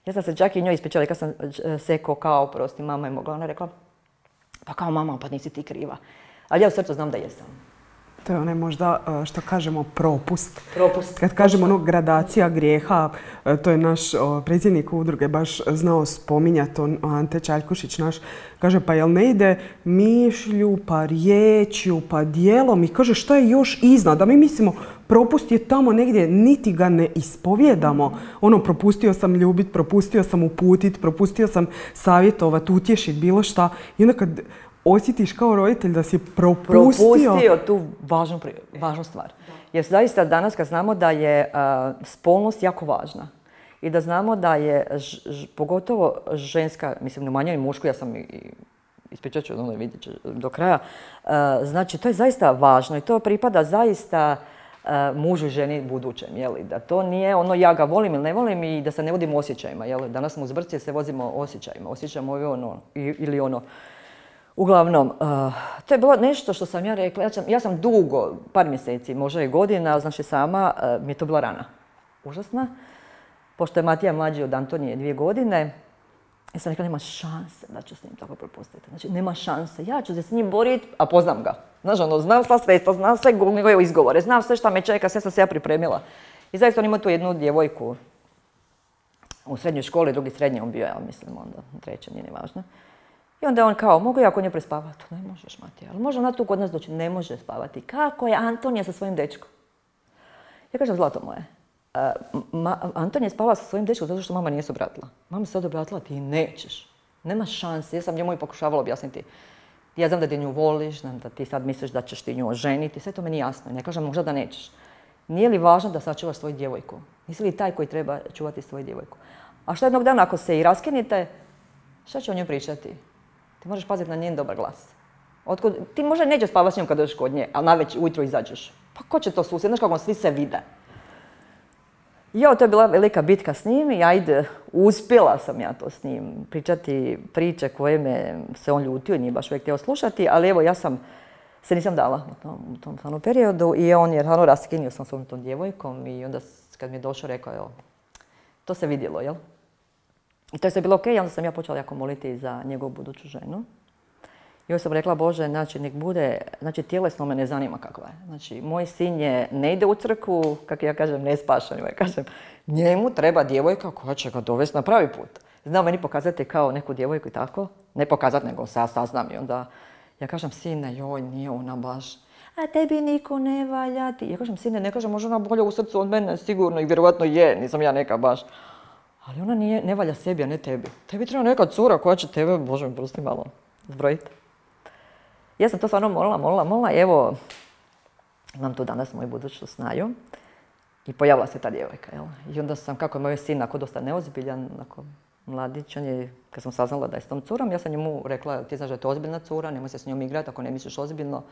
Ja sam se čak i njoj ispričala. Kad sam seko kao, prosti, mama je mogla. Ona je rekla, pa kao mama, pa nisi ti kriva. Ali ja u srcu znam da jesam. To je onaj možda, što kažemo, propust. Propust. Kad kažemo gradacija grijeha, to je naš predsjednik udruge baš znao spominjati, Ante Čaljkušić naš, kaže pa jel ne ide mišlju, pa riječju, pa dijelom i kaže što je još iznad, da mi mislimo propust je tamo negdje, niti ga ne ispovjedamo. Propustio sam ljubit, propustio sam uputit, propustio sam savjetovat, utješit, bilo šta. I onda kad osjetiš kao roditelj da si propustio tu važnu stvar. Jer zaista danas kad znamo da je spolnost jako važna i da znamo da je pogotovo ženska, mislim ne manje i mušku, ja sam ispričat ću, vidjet ću do kraja, znači to je zaista važno i to pripada zaista mužu i ženi budućem, jeli? Da to nije ja ga volim ili ne volim i da se ne vodimo osjećajima, jeli? Danas smo uz brcije se vozimo osjećajima, osjećamo ili ono. Uglavnom, to je bilo nešto što sam ja rekla, ja sam dugo, par mjeseci, možda i godina, znači sama, mi je to bila rana. Užasna. Pošto je Matija mlađi od Antonije 2 godine, ja sam rekla nema šanse da ću s njim tako propustiti. Znači, nema šanse, ja ću se s njim boriti, a poznam ga. Znaš, znam sva sredstva, znam sve njegove izgovore, znam sve šta me čeka, sve sam se ja pripremila. I zaista on ima tu jednu djevojku u srednjoj školi, drugi srednji on bio, ja mislim, onda treće, nije ni važno. I onda je on kao, mogu ja kod nje prespavati? Ne možeš, Matija, ali može ona tu kod nas doći? Ne može spavati. Kako je Antonija sa svojim dečkom? Ja kažem, zlato moje, Antonija je spavala sa svojim dečkom zato što mama nije se obratila. Mama se sad obratila, ti nećeš. Nema šanse, ja sam njemu i pokušavala objasniti. Ja znam da ti nju voliš, znam da ti sad misliš da ćeš ti nju oženiti, sve to meni jasno. Ne kažem možda da nećeš. Nije li važno da sačuvaš svoju djevojku? Nisi li taj koji treba čuvati svoju djevojku? A što jednog dana ako se i raskinite, šta će o njoj pričati? Ti možeš paziti na njen dobar glas. Ti možda nećeš spavati s njom kad dođeš kod nje, ali navečer ujutro izađeš. Pa ko će to susjed? Znaš kako svi se vide. To je bila velika bitka s njim i uspjela sam ja to s njim. Pričati priče koje me se on ljutio i nije baš uvijek htio slušati, ali evo ja se nisam dala u tom periodu i on je raskinio sam s ovom tom djevojkom i onda kad mi je došao rekao, to se vidjelo, jel? I to je sve bilo ok, onda sam ja počela jako moliti za njegovu buduću ženu. I onda sam rekla, Bože, znači nek bude, znači tjelesno me ne zanima kakva je. Znači, moj sin ne ide u crkvu, kako ja kažem, ne spašan. Ja kažem, njemu treba djevojka koja će ga dovesti na pravi put. Znao meni pokazati kao neku djevojku i tako. Ne pokazati, nego saznam. I onda ja kažem, sine, joj, nije ona baš. A tebi niko ne valja ti. Ja kažem, sine, ne kažem, može ona bolje u srcu od mene, sigurno i vjerovatno je, nisam ja neka baš. Ali ona ne valja sebi, a ne tebi. Tebi treba neka cura koja će tebe, Bože mi prosti, malo zbrojiti. Ja sam to stvarno molila i evo, imam tu danas moju buduću snaju. I pojavila se ta djevojka, jel? I onda sam, kako je moj sin, ako dosta neozbiljan, ako mladić, on je, kad sam saznala da je s tom curom, ja sam njemu rekla, ti znaš da je to ozbiljna cura, nemoj se s njom igrati ako ne misliš ozbiljno.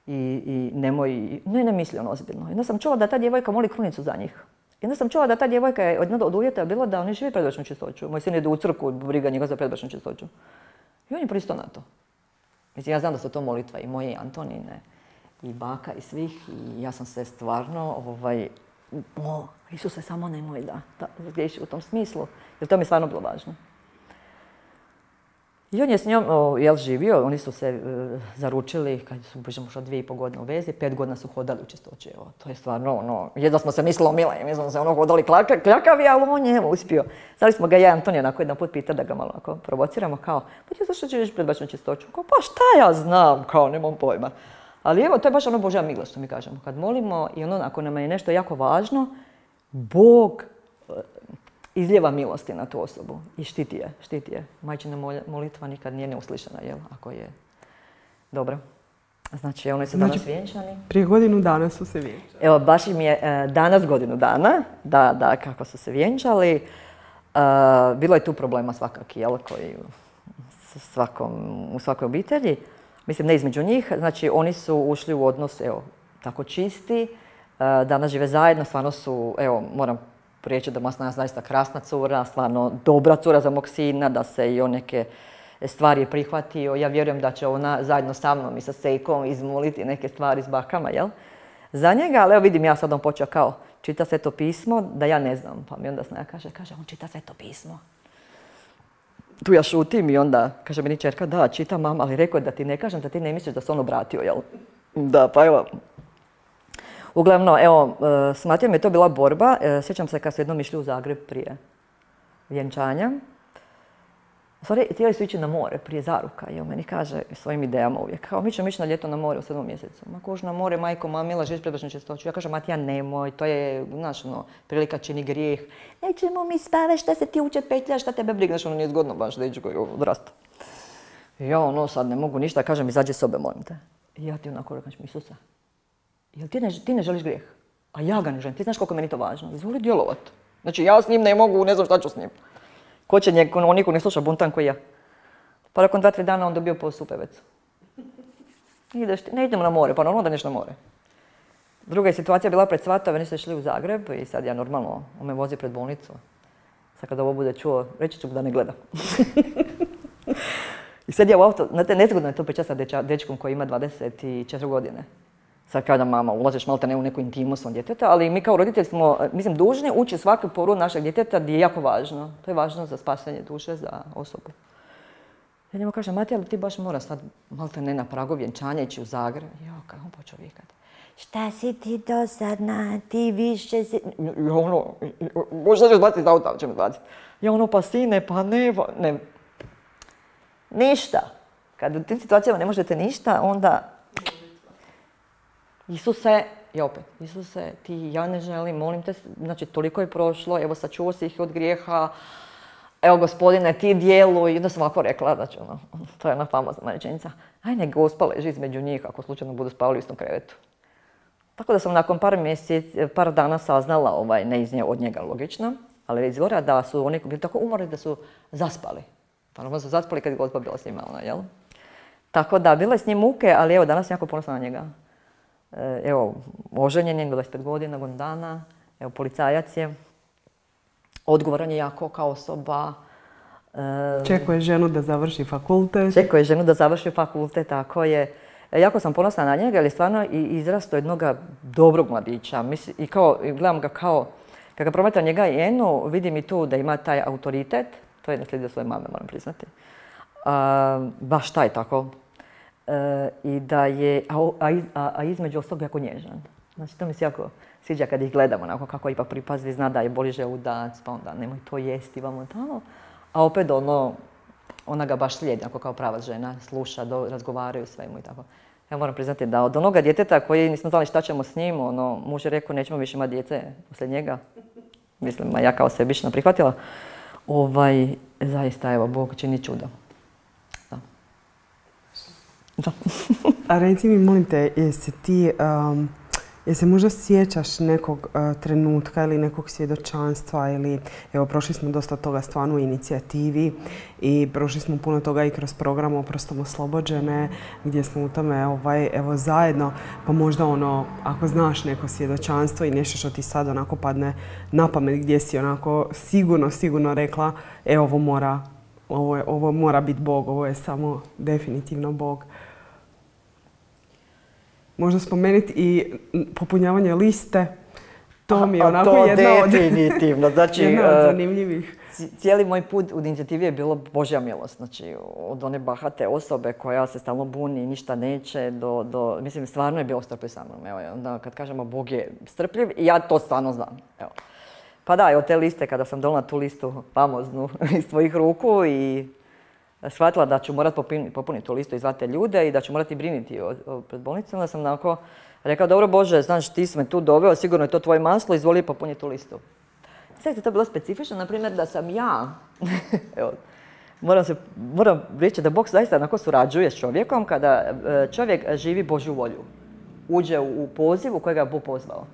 I nemoj, ne misli on ozbiljno. I onda sam čula da ta djevojka moli krunicu za njih. I onda sam čula da ta djevojka je od uvjeta bilo da oni živi predbračnu čistoću. Moj sin ide u crkvu, briga njega za predbračnu čistoću. I on je pristao na to. Mislim, ja znam da su to molitva i moje i Antonine, i baka i svih. I ja sam se stvarno, Isuse, samo nemoj da zgriješi u tom smislu. Jer to mi je stvarno bilo važno. I on je s njom živio, oni su se zaručili kad su možda 2,5 godine u vezi, 5 godina su hodali u čistoći. To je stvarno jedva smo se mislili omile, mi smo se hodali kljakavi, ali on je uspio. Znali smo ga ja i Antonija onako jedan put pita da ga malo provociramo kao, pa ti zašto živiš predbračnu čistoću? Kao, pa šta ja znam, kao nemam pojma. Ali evo, to je baš ono Božja mila što mi kažemo. Kad molimo i ako nam je nešto jako važno, Bog izljeva milosti na tu osobu i štiti je. Majčina molitva nikad nije neuslišana, jel? Ako je dobro. Znači, oni su danas vjenčani. Prije godinu dana su se vjenčali. Evo, baš im je danas godinu dana, da, kako su se vjenčali. Bilo je tu problema svakaki, jel? Koji u svakoj obitelji. Mislim, ne između njih. Znači, oni su ušli u odnos, evo, tako čisti. Danas žive zajedno, stvarno su, evo, moram prijeći da Masna je zaista krasna cura, stvarno dobra cura za mog sina, da se i on neke stvari prihvatio. Ja vjerujem da će ona zajedno sa mnom i sa Sejkom izmoliti neke stvari s bakama, jel? Za njega, ali evo vidim, ja sad on počeo kao čita Sveto pismo, da ja ne znam. Pa mi onda Snaja kaže, on čita Sveto pismo. Tu ja šutim i onda kaže meni čerka, da, čita mama, ali rekao je da ti ne kažem, da ti ne misliš da se on obratio, jel? Da, pa evo. Uglavnom, evo, s Matijom je to bila borba. Sjećam se kad su jednom išli u Zagreb prije vjenčanja. U stvari, htjeli su ići na more prije zaruka i on meni kaže svojim idejama uvijek, kao mi ćemo ići na ljeto na more u 7. mjesecu. Ma kož na more, majko, mamila, živiš predbračnu čistoću. Ja kažem, Matija, nemoj, to je, znaš, prilika čini grijeh. Nećemo mi spavati, šta se ti uče petlja, šta tebe briga, znaš, nije zgodno baš da ići koji odrasta. I ja, sad ne mogu ništa, kažem, izađi iz sobe, molim te. I ja ti onako rekam, Isusa, jel ti ne želiš grijeh? A ja ga ne želim. Ti znaš koliko je meni to važno. Izvoli djelovat. Znači, ja s njim ne mogu, ne znam šta ću s njim. Ko će on niko ne sluša buntan koji ja. Pa nakon 2-3 dana on dobio posao u Pevecu. Ne idemo na more, pa normalno da neš na more. Druga je situacija bila pred Svatove, nisu išli u Zagreb i sad ja normalno, on me vozi pred bolnicu. Sad kada ovo bude čuo, reći ću da ne gleda. I sad ja u auto, znate, nezgodno je to pričati sa dečkom koji ima 24 godine. Sad kada mama ulaziš malo te ne u neku intimu svom djeteta, ali mi kao roditelji smo, mislim, dužni ući svaku poru našeg djeteta gdje je jako važno. To je važno za spasenje duše, za osobu. Ja njemu kažem, Matija, ali ti baš moraš sad malo te ne na pragu vjenčanja ići u Zagreb. Jo, kako on počeo vikati. Šta si ti dosadna, ti više si... Ja ono, možda ćeš baciti iz auta, će me baciti. Ja pa sine, pa ne... Ništa. Kad u tim situacijama ne možete ništa, onda... Isuse, i opet, Isuse, ja ne želim, molim te, znači toliko je prošlo, evo sačuvao si ih od grijeha, evo gospodine, ti djeluj, i onda sam ovako rekla, znači to je ona famozna rečenica, aj nek Gospa leži između njih ako slučajno budu spavali u istom krevetu. Tako da sam nakon par dana saznala, ne od njega logično, ali izgleda da su oni bili tako umorni da su zaspali. Pa su zaspali kad je Gospa bila s njima, jel? Tako da, bile s njim muke, ali evo, danas sam jako ponosna na njega. Evo, oženjen je, 25 godina, godinu dana, evo, policajac je, odgovoran je jako kao osoba. Čekuje ženu da završi fakultet. Tako je. Jako sam ponosna na njega, jer je stvarno izrastao jednog dobrog mladića. I gledam ga kao, kad ga promatram njega i Enu, vidim i tu da ima taj autoritet, to je naslijedio svoje mame, moram priznati. Baš taj tako. I da je, a između ostalog jako nježan. Znači, to mi se jako sviđa kad ih gledamo, onako kako ipak pripazi, zna da je boli želudac, pa onda nemoj to jesti, vamo tamo. A opet ona ga baš slijedi, onako kao prava žena, sluša, razgovaraju svemu i tako. Ja moram priznati da od onoga djeteta koji nismo znali šta ćemo s njim, muž je rekao nećemo više imati djece poslije njega. mislim, ja kao sebična prihvatila, zaista, evo, Bog čini čudo. Da. Da. A reci mi, molim te, jesi možda sjećaš nekog trenutka ili nekog svjedočanstva ili, evo, prošli smo dosta toga stvarno u inicijativi i prošli smo puno toga i kroz program Oprostom oslobođene, gdje smo u tome, evo, zajedno, pa možda ako znaš neko svjedočanstvo i nešto što ti sad onako padne na pamet, gdje si onako sigurno rekla, ovo mora biti Bog, ovo je samo definitivno Bog. Možda spomenuti i popunjavanje liste. To mi je onako definitivno. Znači, jedna od zanimljivih. Cijeli moj put u inicijativi je bilo Božja milost. Znači, od one bahate osobe koja se stalno buni i ništa neće, mislim, stvarno je bilo strpljiv sa mnom. Evo, onda kad kažemo Bog je strpljiv, i ja to stvarno znam. Evo. Pa da, od te liste, kada sam donijela tu listu famoznu iz tvojih ruku i shvatila da ću morati popuniti tu listu i zvati ljude i da ću morati brinuti pred bolnicom, onda sam onako rekla, dobro Bože, znaš, ti si me tu doveo, sigurno je to tvoje maslo, izvoli popuniti tu listu. Sad je to bilo specifično, na primjer, da sam ja, evo, moram reći da Bog zaista onako surađuje s čovjekom kada čovjek živi Božju volju, uđe u poziv u kojega je Bog pozvao.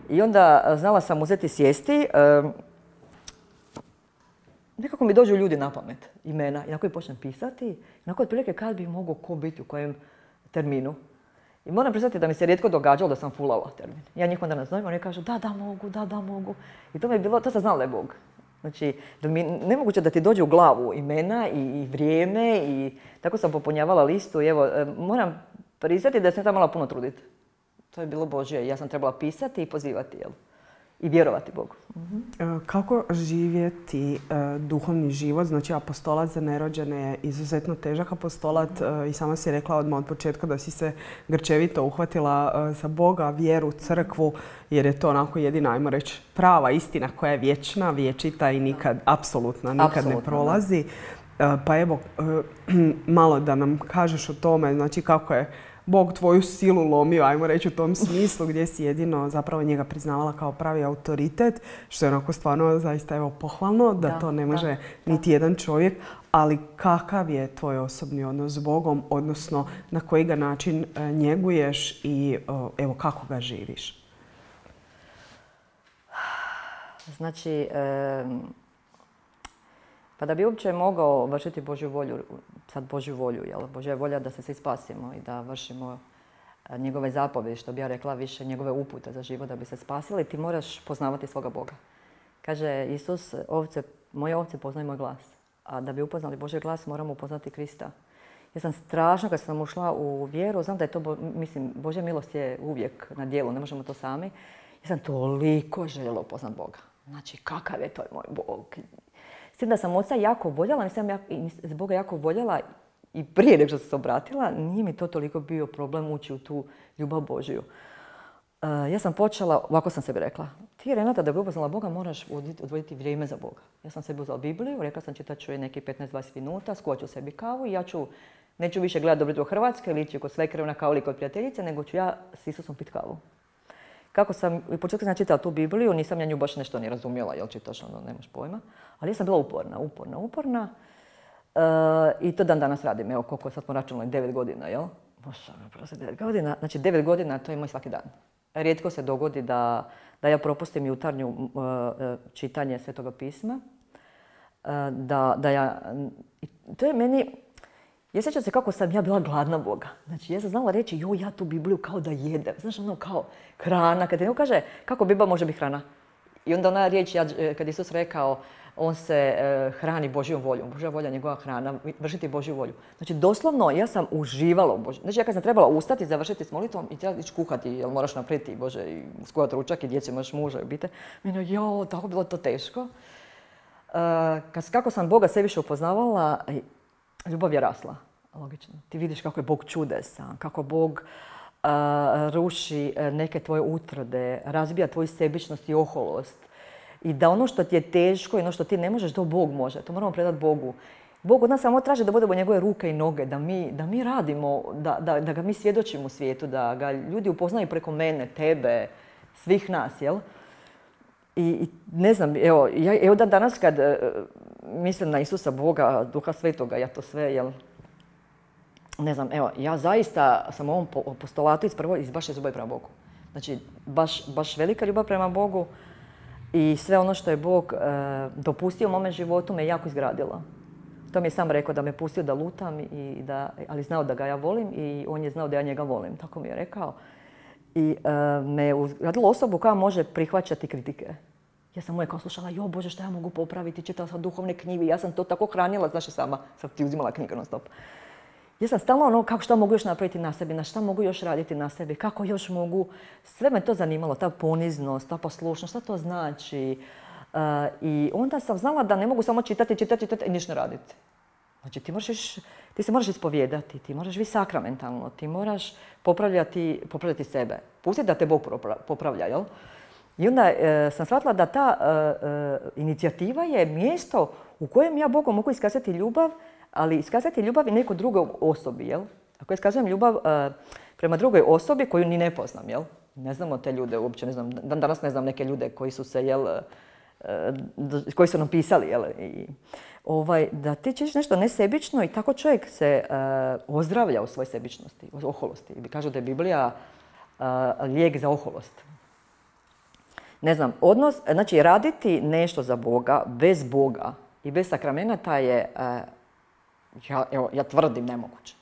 I onda znala sam uzeti sjesti, nekako mi dođu ljudi na pamet, imena, i na koji počnem pisati, onako otprilike kad bi mogao ko biti u kojem terminu. I moram priznati da mi se rijetko događalo da sam fulala termin. Ja njih onda nazovem, oni kažu da mogu. I to mi je bilo, to sam znala da je Bog. Znači, da mi nemoguće da ti dođe u glavu imena i vrijeme i tako sam popunjavala listu. I evo, moram priznati da sam trebala puno truditi. To je bilo Božje. Ja sam trebala pisati i pozivati, jel? I vjerovati Bogu. Kako živjeti duhovni život? Znači, apostolat za nerođene je izuzetno težak apostolat i sama si rekla odmah od početka da si se grčevito uhvatila za Boga, vjeru, crkvu, jer je to onako jedina, ajmo reći, prava istina koja je vječna, vječita i nikad, apsolutno ne prolazi. Pa evo, malo da nam kažeš o tome, znači kako je Bog tvoju silu lomio, ajmo reći u tom smislu, gdje si jedino zapravo njega priznavala kao pravi autoritet, što je onako stvarno zaista evo pohvalno, da to ne može niti jedan čovjek, ali kakav je tvoj osobni odnos s Bogom, odnosno na koji ga način njeguješ i evo kako ga živiš? Znači, pa da bi uopće mogao vršiti Božju volju, sad Božju volju, jel? Božja je volja da se svi spasimo i da vršimo njegove zapovjedi, što bi ja rekla više njegove upute za život da bi se spasili, ti moraš poznavati svoga Boga. Kaže Isus, moje ovce poznaju moj glas, a da bi upoznali Božji glas moramo upoznati Krista. Ja sam strašno kad sam ušla u vjeru, znam da je to, mislim, Božja milost je uvijek na djelu, ne možemo to sami. Ja sam toliko željela upoznati Boga. Znači, kakav je to moj Bog. S tim da sam oca jako voljela, nisam Boga jako voljela i prije nego što sam se obratila, nije mi to toliko bio problem ući u tu ljubav Božju. Ja sam počela, ovako sam sebi rekla, ti Renata da bi upoznala Boga moraš odvojiti vrijeme za Boga. Ja sam sebi uzela Bibliju, rekla sam čitat ću je neki 15-20 minuta, skuvat ću sebi kavu i neću više gledati Dobro jutro Hrvatske ili ići kod svekrve na kavu ili kod prijateljice, nego ću ja s Isusom pit kavu. Kako sam, u početku sam čitala tu Bibliju, nisam ja nju baš nešto ni razumjela, jel čitaš, ono, nemaš pojma. Ali ja sam bila uporna. I to dan danas radim, evo koliko sad smo računali, 9 godina, jel? Bože, 9 godina, znači 9 godina to je moj svaki dan. Rijetko se dogodi da ja propustim jutarnju čitanje Svetoga pisma. To je meni, ja sjećam se kako sam ja bila gladna Boga. Znači, ja sam znala reći, ja tu Bibliju kao da jedem. Znaš, ono kao hrana. Kad ti neko kaže, kako Biblia može biti hrana? I onda ona riječ, kad Isus rekao, on se hrani Božjom voljom. Božja volja je njegova hrana, vršiti Božju volju. Znači, doslovno, ja sam uživala u Božju. Znači, ja kad sam trebala ustati, završiti s molitvom i trebala ići kuhati, jer moraš napraviti, Bože, i skuhati ručak i djeci, imaš muža i obitelj. Meni, tako bilo to teško. Kako sam Boga sve više upoznavala, ljubav je rasla, logično. Ti vidiš kako je Bog čudesan, kako Bog ruši neke tvoje utrode, razbija tvoju sebičnost i oholost. I da ono što ti je teško i ono što ti ne možeš, to Bog može. To moramo predati Bogu. Bog od nas samo traži da budemo njegove ruke i noge, da mi radimo, da ga mi svjedočimo u svijetu, da ga ljudi upoznaju preko mene, tebe, svih nas, jel? I ne znam, evo da danas kad mislim na Isusa Boga, Duha Svetoga, ja to sve, ne znam, evo, ja zaista sam u ovom apostolatu baš je ljubav prema Bogu. Znači, baš velika ljubav prema Bogu i sve ono što je Bog dopustio u mome životu me jako izgradila. To mi je sam rekao da me pustio da lutam, ali znao da ga ja volim i on je znao da ja njega volim, tako mi je rekao. I me je uzgradilo osobu koja može prihvaćati kritike. Ja sam kao slušala, Bože, šta ja mogu popraviti, čitala sam duhovne knjige, ja sam to tako hranila, znaš sama, sam ti uzimala knjiga non stop. Ja sam stalno šta mogu još napraviti na sebi, na šta mogu još raditi na sebi, kako još mogu. Sve me to zanimalo, ta poniznost, ta poslušnost, šta to znači. I onda sam znala da ne mogu samo čitati i ništa ne raditi. Znači ti se moraš ispovijedati, ti moraš biti sakramentalno, ti moraš popravljati sebe. Pusti da te Bog popravlja, jel? I onda sam shvatila da ta inicijativa je mjesto u kojem ja Bogom mogu iskazati ljubav, ali iskazati ljubav i nekoj drugoj osobi, jel? Ako iskazujem ljubav prema drugoj osobi koju ni ne poznam, jel? Ne znamo te ljude uopće, ne znam, danas ne znam neke ljude koji su se, jel, koji su nam pisali, jel? Da ti činiš nešto nesebično i tako čovjek se ozdravlja u svojoj sebičnosti, u oholosti. I kažu da je Biblija lijek za oholost. Ne znam, znači raditi nešto za Boga, bez Boga i bez sakramenata je, ja tvrdim, nemoguće.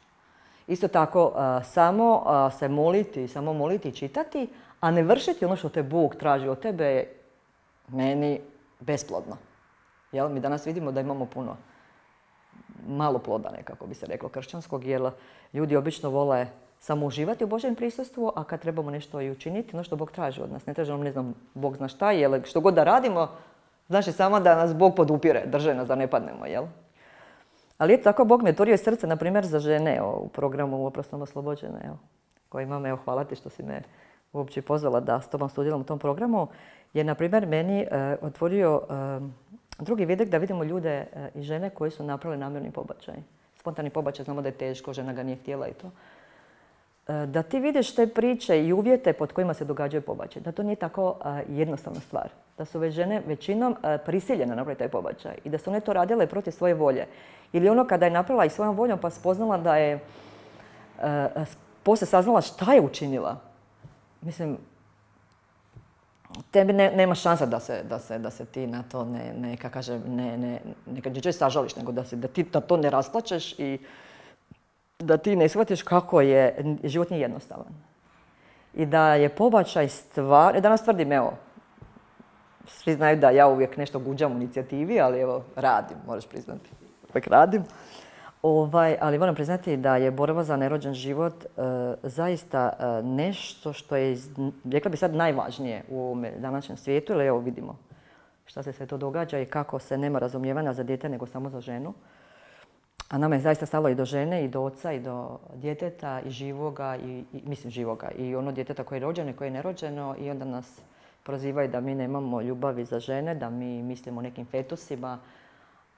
Isto tako, samo se moliti i čitati, a ne vršiti ono što te Bog traži od tebe je meni besplodno. Jel? Mi danas vidimo da imamo malo ploda, nekako bi se reklo, kršćanskog, jer ljudi obično vole samo uživati u Božjem prisustvu, a kad trebamo nešto i učiniti, ono što Bog traži od nas. Ne traži nam, ne znam, Bog zna šta, jer što god da radimo, znači samo da nas Bog podupire, drže nas da ne padnemo, jel? Ali eto, tako Bog mi otvorio srce, na primjer, za žene u programu Oprostom oslobođene, koji imam, hvala ti što si me uopće pozvala da s tobom sudjelujem u tom programu, je, na primjer, meni otvorio drugi vidik da vidimo ljude i žene koji su napravili namjerni pobačaj. Spontani pobačaj, znamo da je teško, žena ga nije htjela i to. Da ti vidiš te priče i uvjete pod kojima se događaju pobačaj. Da to nije tako jednostavna stvar. Da su već žene većinom prisiljene napraviti taj pobačaj. I da su one to radile protiv svoje volje. Ili ono kada je napravila i svojom voljom pa spoznala da je poslije saznala šta je učinila. Mislim, tebi nema šansa da se ti na to ne sažališ, nego da ti na to ne rasplačeš i da ti ne shvatiš kako je, život nije jednostavan. I da je pobačaj stvar, danas tvrdim, svi znaju da ja uvijek nešto guđam u inicijativi, ali radim, moraš priznati. Uvijek radim. Ali moram priznati da je borba za nerođen život zaista nešto što je, rekla bi sad, najvažnije u ovome današnjem svijetu, jer vidimo šta se sve to događa i kako se nema razumijevanja za dijete nego samo za ženu. A nama je zaista stalo i do žene, i do oca, i do djeteta, i živoga, mislim živoga, i ono djeteta koje je rođeno i koje je nerođeno, i onda nas prozivaju da mi nemamo ljubavi za žene, da mi mislimo o nekim fetusima,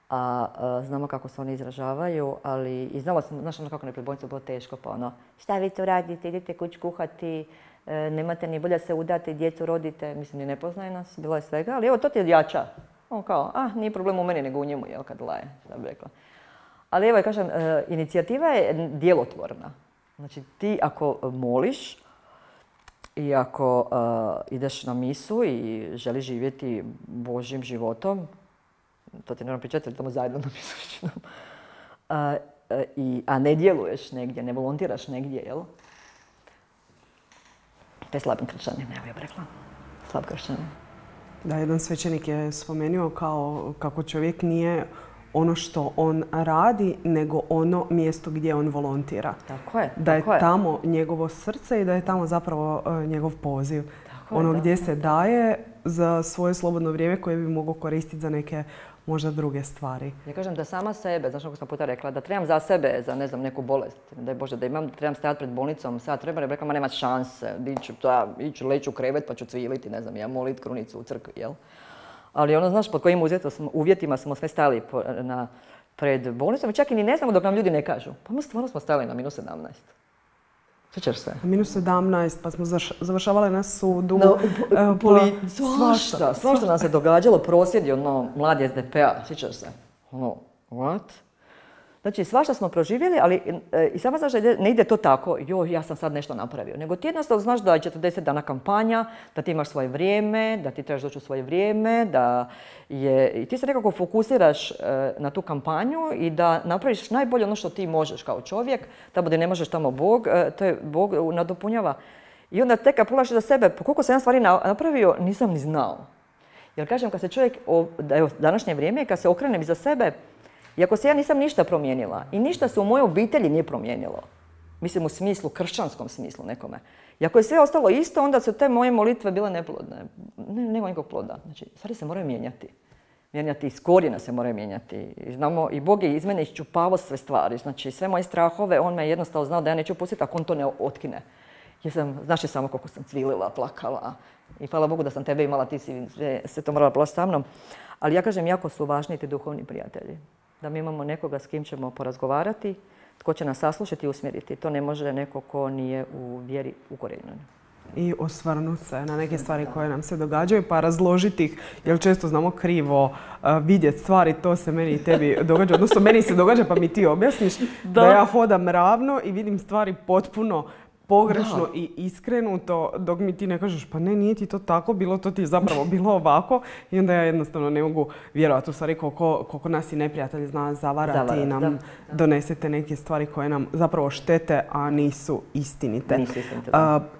a znamo kako se oni izražavaju, ali i znala sam, znaš ono kako neprebojnicu bilo teško, pa šta vi to radite, idete kuć kuhati, nemate ni bolje se udati, djecu rodite, mislim, ni ne poznaje nas, bilo je svega, ali to ti je jača. On kao, nije problem u meni nego u njemu, kad laje, šta bi rekla. Ali kažem, inicijativa je djelotvorna. Znači ti ako moliš i ako ideš na misu i želiš živjeti Božjim životom, to ti ne moram pričati, ali tamo zajedno na misu, a ne djeluješ negdje, ne volontiraš negdje, jel? To je slabim kršćanin, ja bih rekla. Slab kršćanin. Da, jedan svećenik je spomenuo kako čovjek nije ono što on radi, nego ono mjesto gdje on volontira. Tako je. Da je tamo njegovo srce i da je tamo zapravo njegov poziv. Ono gdje se daje za svoje slobodno vrijeme koje bi mogao koristiti za neke možda druge stvari. Ja kažem da sama sebe, znaš kako sam puta rekla, da trebam za sebe, za ne znam, neku bolest, daj Bože, da trebam stajati pred bolnicom, sad treba, rekla, nema šanse, iću leći u krevet pa ću cviliti, ne znam, ja molit krunicu u crkvi, jel? Ali ono, znaš, pod kojim uvjetima smo sve stali pred bolnicom i čak i ni ne znamo dok nam ljudi ne kažu. Pa mi stvarno smo stali na -17. Sjećaš se? Minus 17, pa smo završavale na sudu. Svašta nam se događalo, prosvjedi, mladi SDP-a, sjećaš se? What? Znači, svašta smo proživjeli, ali i sama znaš da ne ide to tako, ja sam sad nešto napravio. Nego ti jednostavno znaš da je 40 dana kampanja, da ti imaš svoje vrijeme, da ti trebaš doći u svoje vrijeme, i ti se nekako fokusiraš na tu kampanju i da napraviš najbolje ono što ti možeš kao čovjek, tamo gdje ne možeš, tamo Bog, to je Bog nadopunjava. I onda tek kad pogledaš za sebe, po koliko sam ja stvari napravio, nisam ni znao. Jer kažem, kad se čovjek, evo, današnje vrijeme, kad se okrenem iza sebe, iako se ja nisam ništa promijenila i ništa se u mojoj obitelji nije promijenilo, mislim u smislu, kršćanskom smislu nekome. I ako je sve ostalo isto, onda su te moje molitve bile neplodne. Nema nikog ploda. Znači, stvari se moraju mijenjati. Mijenjati iz korijena se moraju mijenjati. Znamo, i Bog je iz mene iščupavao sve stvari. Znači, sve moje strahove, on me jednostavno znao da ja neću pustiti ako on to ne otkine. Znaš je samo koliko sam cvilila, plakala. I hvala Bogu da sam tebe imala, ti si se to morala proći sa mnom. Ali ja kažem, jako su važni ti duhovni prijatelji. Da mi imamo nekoga s kim ćemo porazgovarati, tko će nas saslušati i usmjeriti. To ne može neko ko nije u vjeri ukorijenjen. I osvrnuti se na neke stvari koje nam se događaju, pa razložiti ih, jer često znamo krivo vidjeti stvari, to se meni i tebi događa, odnosno meni se događa pa mi ti objasniš da ja hodam ravno i vidim stvari potpuno pogrešno i iskrenuto, dok mi ti ne kažeš pa ne, nije ti to tako bilo, to ti je zapravo bilo ovako i onda ja jednostavno ne mogu vjerovati u stvari koliko nas i neprijatelji zna zavarati i nam donesete neke stvari koje nam zapravo štete, a nisu istinite.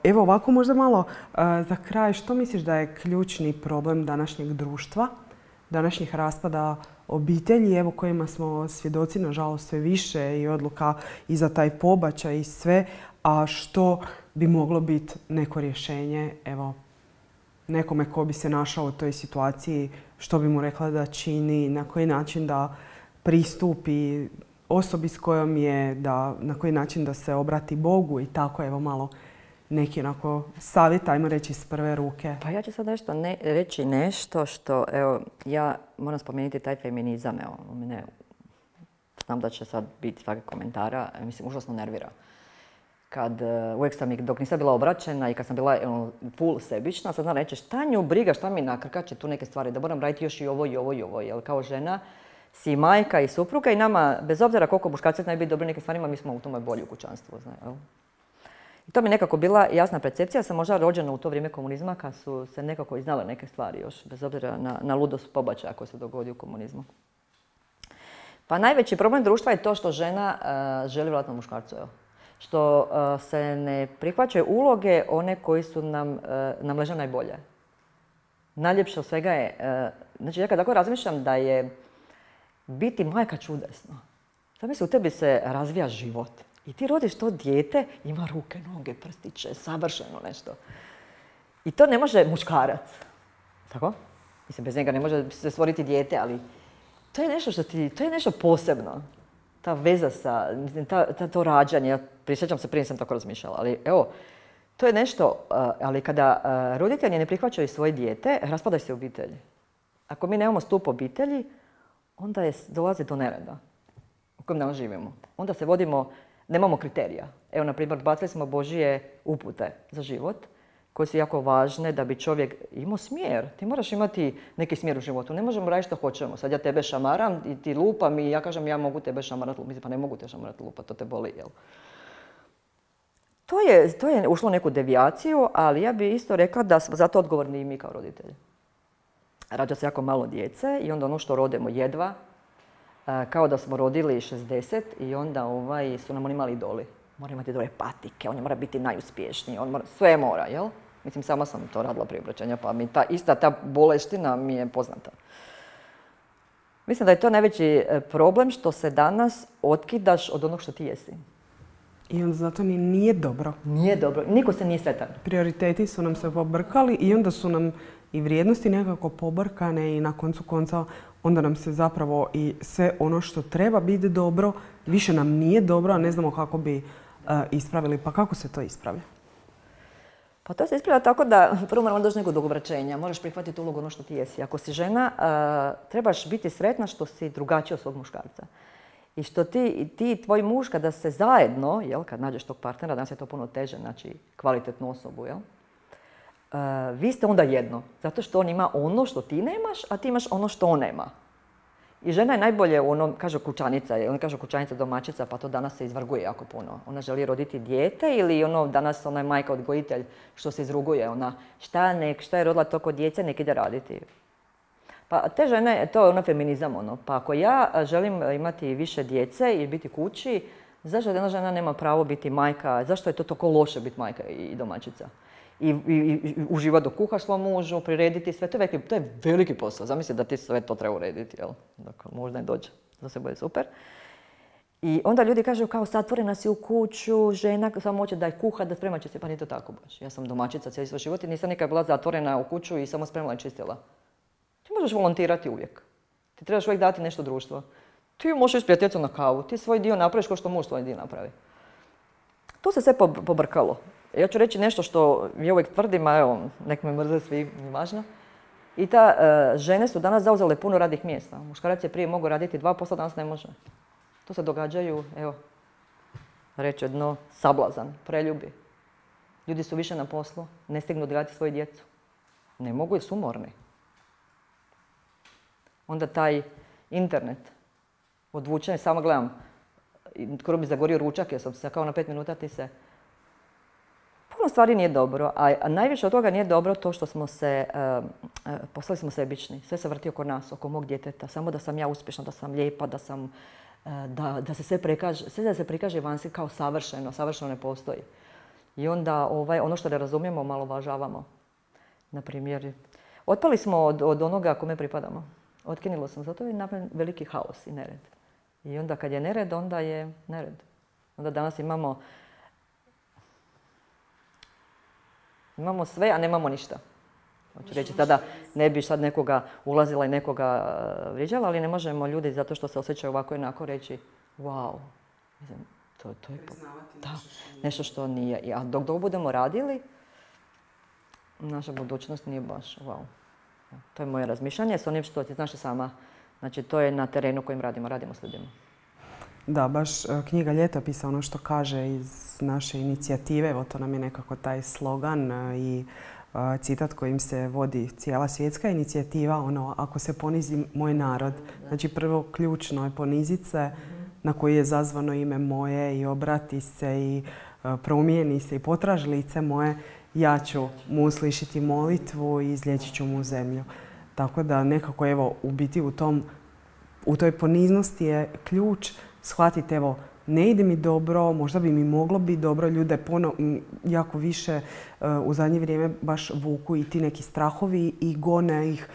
Evo ovako možda malo za kraj, što misliš da je ključni problem današnjeg društva, današnjih raspada obitelji, evo kojima smo svjedoci nažalost sve više i odluka i za taj pobačaj i sve, a što bi moglo biti neko rješenje, evo, nekome ko bi se našao u toj situaciji, što bi mu rekla da čini, na koji način da pristupi osobi s kojom je, na koji način da se obrati Bogu i tako, evo malo neki onako savjet, ajmo reći iz prve ruke. Pa ja ću sad reći nešto što, evo, ja moram spomenuti taj feminizam, evo, mene, znam da će sad biti svakih komentara, mislim, užasno nervira. Uvijek sam, dok nisam bila obraćena i kad sam bila full sebična, sad znam reći šta nju briga, šta mi nakrkaće tu neke stvari, da moram raditi još i ovo i ovo i ovo, jer kao žena si majka i supruga i nama, bez obzira koliko muškarci znaju biti dobri nekim stvarima, mi smo u tome bolji u kućanstvu. I to mi nekako bila jasna percepcija. Ja sam možda rođena u to vrijeme komunizma kad su se nekako i znale neke stvari još, bez obzira na ludost pobačaja koji se dogodi u komunizmu. Pa najveći problem društva je to što žena želi vratno muškarcu. Što se ne prihvaćaju uloge one koji su nam leže najbolje. Najljepše od svega je, znači ja kad tako razmišljam da je biti majka čudesno. Zamisli, u tebi se razvija život. I ti rodiš to dijete, ima ruke, noge, prstiće, savršeno nešto. I to ne može muškarac. Tako? Mislim, bez njega ne može se stvoriti dijete, ali to je nešto to je nešto posebno. Ta veza sa, to rađanje, ja prisjećam se, prije sam tako razmišljala, ali evo, to je nešto, ali kada roditelji ne prihvaćaju svoje dijete, raspada se obitelj. Ako mi nemamo stup obitelji, onda dolazi do nereda u kojem danas živimo. Onda se vodimo, nemamo kriterija. Evo, na primjer, bacili smo Božje upute za život, koje su jako važne da bi čovjek imao smjer. Ti moraš imati neki smjer u životu. Ne možemo raditi što hoćemo. Sad ja tebe šamaram i ti lupam i ja kažem ja mogu tebe šamarati lupati. Pa ne mogu te šamarati lupati, to te boli, jel? To je ušlo neku devijaciju, ali ja bih isto rekla da smo zato odgovorni i mi kao roditelji. Rađa se jako malo djece i onda ono što rodimo jedva, kao da smo rodili 60 i onda su nam oni mali idoli. Mora imati dobre patike, on mora biti najuspješniji, sve mora, jel? Mislim, sama sam to radila prije obraćanja, pa mi ta boleština mi je poznata. Mislim da je to najveći problem što se danas otkidaš od onog što ti jesi. I onda zato nije dobro. Nije dobro, niko se nije sretan. Prioriteti su nam se pobrkali i onda su nam i vrijednosti nekako pobrkane i na koncu konca onda nam se zapravo i sve ono što treba biti dobro, više nam nije dobro, a ne znamo kako bi ispravili. Pa kako se to ispravlja? Pa to se ispravlja tako da prvo moramo doći nekog dogovraćenja. Moraš prihvatiti ulogu ono što ti jesi. Ako si žena, trebaš biti sretna što si drugačija od svog muškarca. I što ti i tvoj muž kada se zajedno, jel, kad nađeš tog partnera, danas je to puno teže, znači kvalitetnu osobu, jel? Vi ste onda jedno, zato što on ima ono što ti nemaš, a ti imaš ono što on nema. I žena je najbolje u onom, kaže kućanica, on kaže kućanica domaćica, pa to danas se izvrguje jako puno. Ona želi roditi dijete ili ono danas ona je majka odgojitelj što se izruguje, ona šta je rodila toliko djece, nek ide raditi. Pa te žene, to je ono feminizam, ono. Pa ako ja želim imati više djece i biti kući, zašto jedna žena nema pravo biti majka, zašto je to toliko loše biti majka i domaćica? I uživati dok kuhaš svom mužu, prirediti sve, to je veliki posao. Zamisli da ti sve to treba urediti, jel? Dakle, možda ne dođe, za sve bude super. I onda ljudi kažu kao zatvorena si u kuću, žena samo hoće da je kuha, da sprema će se, pa nije to tako baš. Ja sam domaćica cijeli svoj život i nisam nikad bila zatvorena u kuću i samo spremala i čistila. Ti možeš volontirati uvijek. Ti trebaš uvijek dati nešto društvu. Ti možeš s prijateljicom na kavu, ti svoj dio napraviš kao što muž svoj dio napravi. To se sve pobrkalo. Ja ću reći nešto što ja uvijek tvrdim, a evo, nek me mrze svi, nije važno. I žene su danas zauzele puno radnih mjesta. Muškarac je prije mogao raditi 2%, danas ne može. To se događaju, evo, reći jedno, sablazan, preljubi. Ljudi su više na poslu, ne stignu odgajati svoju djecu. Ne mogu jer su umorni. Onda taj internet, odvučen, samo gledam, skoro bi zagorio ručak jer sam se kao na 5 minuta ti se... Puno stvari nije dobro, a najviše od toga nije dobro to što smo se, postali smo sebični. Sve se vrti oko nas, oko mog djeteta, samo da sam ja uspješna, da sam lijepa, da se sve prikaže vanjski kao savršeno, savršeno ne postoji. I onda ono što ne razumijemo malo uvažavamo. Naprimjer, otpali smo od onoga kome pripadamo. Otkinilo sam, zato je napravljen veliki haos i nered. I onda kad je nered, onda je nered. Onda danas imamo sve, a nemamo ništa. Hoću reći, sada ne bi sad nekoga ulazila i nekoga vrijeđala, ali ne možemo ljudi zato što se osjećaju ovako i onako reći wow, to je nešto što nije. A dok budemo radili, naša budućnost nije baš wow. To je moje razmišljanje s onim što ti znaš sama. Znači, to je na terenu kojim radimo s ljudima. Da, baš knjiga Ljetopisa, ono što kaže iz naše inicijative, evo to nam je nekako taj slogan i citat kojim se vodi cijela svjetska inicijativa, ono, ako se ponizi moj narod. Znači, prvo ključno je ponizit se, na koji je zazvano ime moje i obrati se i promijeni se i potraži lice moje, ja ću mu uslišiti molitvu i izliječit ću mu zemlju. Tako da nekako evo u biti u toj poniznosti je ključ shvatiti evo ne ide mi dobro, možda bi mi moglo biti dobro, ljude jako više u zadnje vrijeme baš vuku i ti neki strahovi i gone ih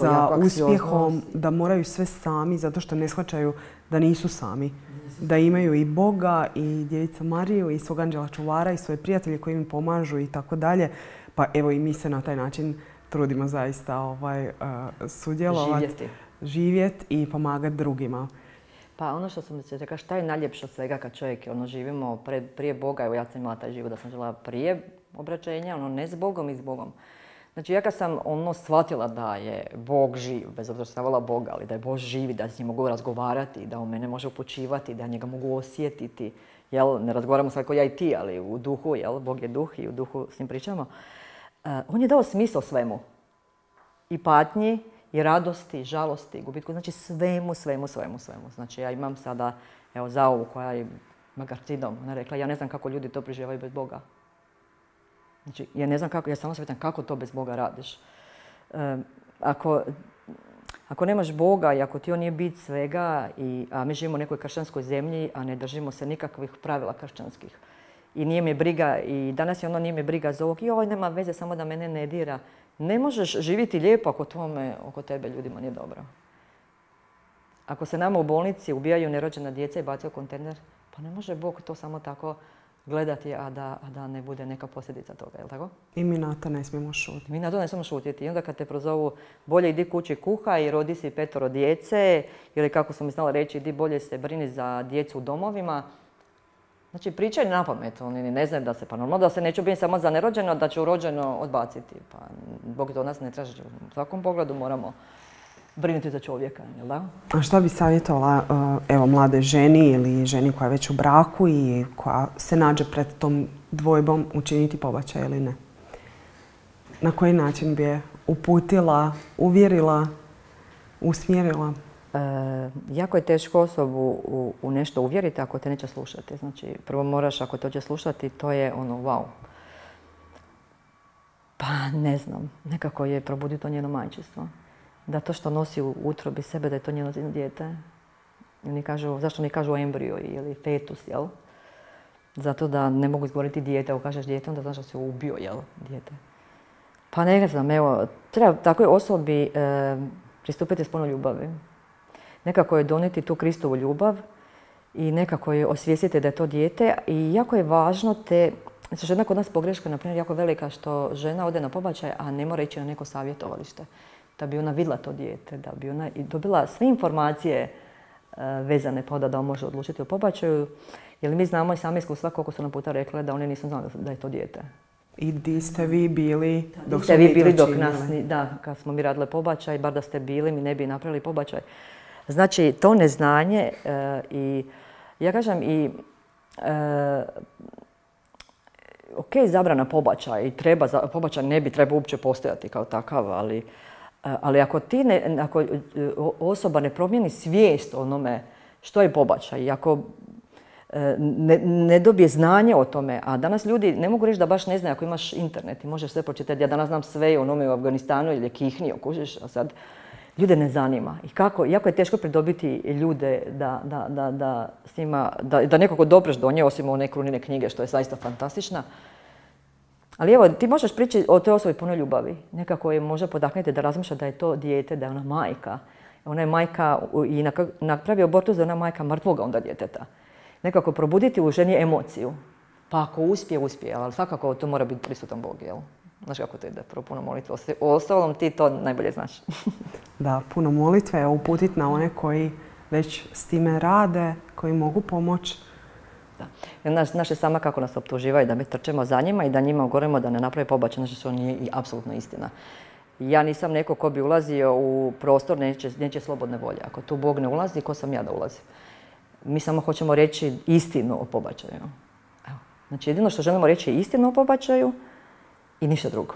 za uspjehom, da moraju sve sami zato što ne shvaćaju da nisu sami. Da imaju i Boga i Djevicu Mariju i svog anđela čuvara i svoje prijatelje koji im pomažu i tako dalje. Pa evo i mi se na taj način trudimo zaista sudjelovati, živjeti i pomagati drugima. Pa ono što sam se rekla, šta je najljepše od svega kad čovjek živimo prije Boga, evo ja sam imala taj život da sam žela prije obraćenja, ne s Bogom i s Bogom. Znači ja kad sam shvatila da je Bog živ, bez obzira što sam volila Boga, ali da je Bog živ i da s njim mogu razgovarati, da on mene može upućivati, da njega mogu osjetiti. Ne razgovaramo sad kao ja i ti, ali u duhu, Bog je duh i u duhu s njim pričamo. On je dao smisao svemu. I patnji, i radosti, i žalosti, i gubitku. Znači svemu. Znači ja imam sada, Zaovu koja ima karcinom. Ona je rekla, ja ne znam kako ljudi to preživljavaju bez Boga. Znači, ja samo se pitam kako to bez Boga radiš. Ako nemaš Boga i ako ti on nije bit svega, a mi živimo u nekoj kršćanskoj zemlji, a ne držimo se nikakvih pravila kršćanskih. I nije mi briga, i danas je nije mi briga za ovog, joj, nema veze, samo da mene ne dira. Ne možeš živjeti lijepo ako oko tebe ljudima nije dobro. Ako se nama u bolnici ubijaju nerođena djeca i bacaju kontejner, pa ne može Bog to samo tako gledati, a da ne bude neka posljedica toga, je li tako? I mi na to ne smijemo šutiti. Mi na to ne smijemo šutiti. I onda kad te prozovu, bolje idi kući kuha i rodi si 5 djece, ili kako sam mi znala reći, idi bolje se brini za djecu u domovima. Znači, pričaju na pamet, oni ne znaju da se, pa normalno da se neću biti samo za nerođeno, da će rođeno odbaciti. Pa Bog to od nas ne traži. U svakom pogledu moramo brinuti za čovjeka, jel da? A što bi savjetovala evo, mlade ženi ili ženi koja je već u braku i koja se nađe pred tom dvojbom učiniti pobačaj ili ne? Na koji način bi je uputila, uvjerila, usmjerila? Jako je teško osobu u nešto uvjeriti ako te neće slušati. Znači, prvo moraš, ako te hoće slušati, to je ono, wow. Pa ne znam, nekako je probuditi to njeno majčinstvo. Da to što nosi u utrobi sebe, da je to njeno dijete. Zašto ne kažu embriju ili fetus, jel? Zato da ne mogu izgovoriti dijete. Ako kažeš dijete, onda znaš da se ubio, jel? Dijete. Pa ne znam, evo, treba takvoj osobi pristupiti s puno ljubavi. Nekako je donijeti tu Kristovu ljubav i nekako je osvijestiti da je to dijete. I jako je važno znači žena kod nas pogreška je, na primjer, jako velika što žena ode na pobačaj, a ne mora ići na neko savjetovalište. Da bi ona vidjela to dijete, da bi ona dobila sve informacije vezane pa da može odlučiti o pobačaju. Jer mi znamo i sami iskustva koliko su nam puta rekle da one nisu znali da je to dijete. I di ste vi bili dok ste vi bili dok nas, da, kad smo mi radile pobačaj, bar da ste bili, mi ne bi napravili pobačaj. Znači, to neznanje i ja kažem i ok, zabrana pobačaj, pobačaj ne bi trebao uopće postojati kao takav, ali ako osoba ne promijeni svijest o onome što je pobačaj, ako ne dobije znanje o tome, a danas ljudi ne mogu reći da baš ne znaju ako imaš internet i možeš sve pročitati. Ja danas znam sve o onome u Afganistanu ili kihnio, kužiš, a sad ljude ne zanima. I jako je teško pridobiti ljude da nekako dopreš do nje, osim one Krunine knjige, što je zaista fantastična. Ali evo, ti možeš pričati o toj osobi puno ljubavi. Nekako je možda podaknuti da razmišlja da je to dijete, da je ona majka. Ona je majka i napravi abortus da je ona majka mrtvoga onda djeteta. Nekako probuditi u ženi emociju. Pa ako uspije, ali svakako to mora biti prisutan Bog, jel? Znaš kako to ide, prvo puno molitve. Ostalom ti to najbolje znaš. Da, puno molitve, uputiti na one koji već s time rade, koji mogu pomoći. Znaš je sama kako nas optuživaju da mi trčemo za njima i da njima govorimo da ne napravi pobačaj, znači što nije i apsolutno istina. Ja nisam neko ko bi ulazio u prostor neće slobodne volje. Ako tu Bog ne ulazi, ko sam ja da ulazim? Mi samo hoćemo reći istinu o pobačaju. Evo. Znači jedino što želimo reći je istinu o pobačaju i ništa drugo.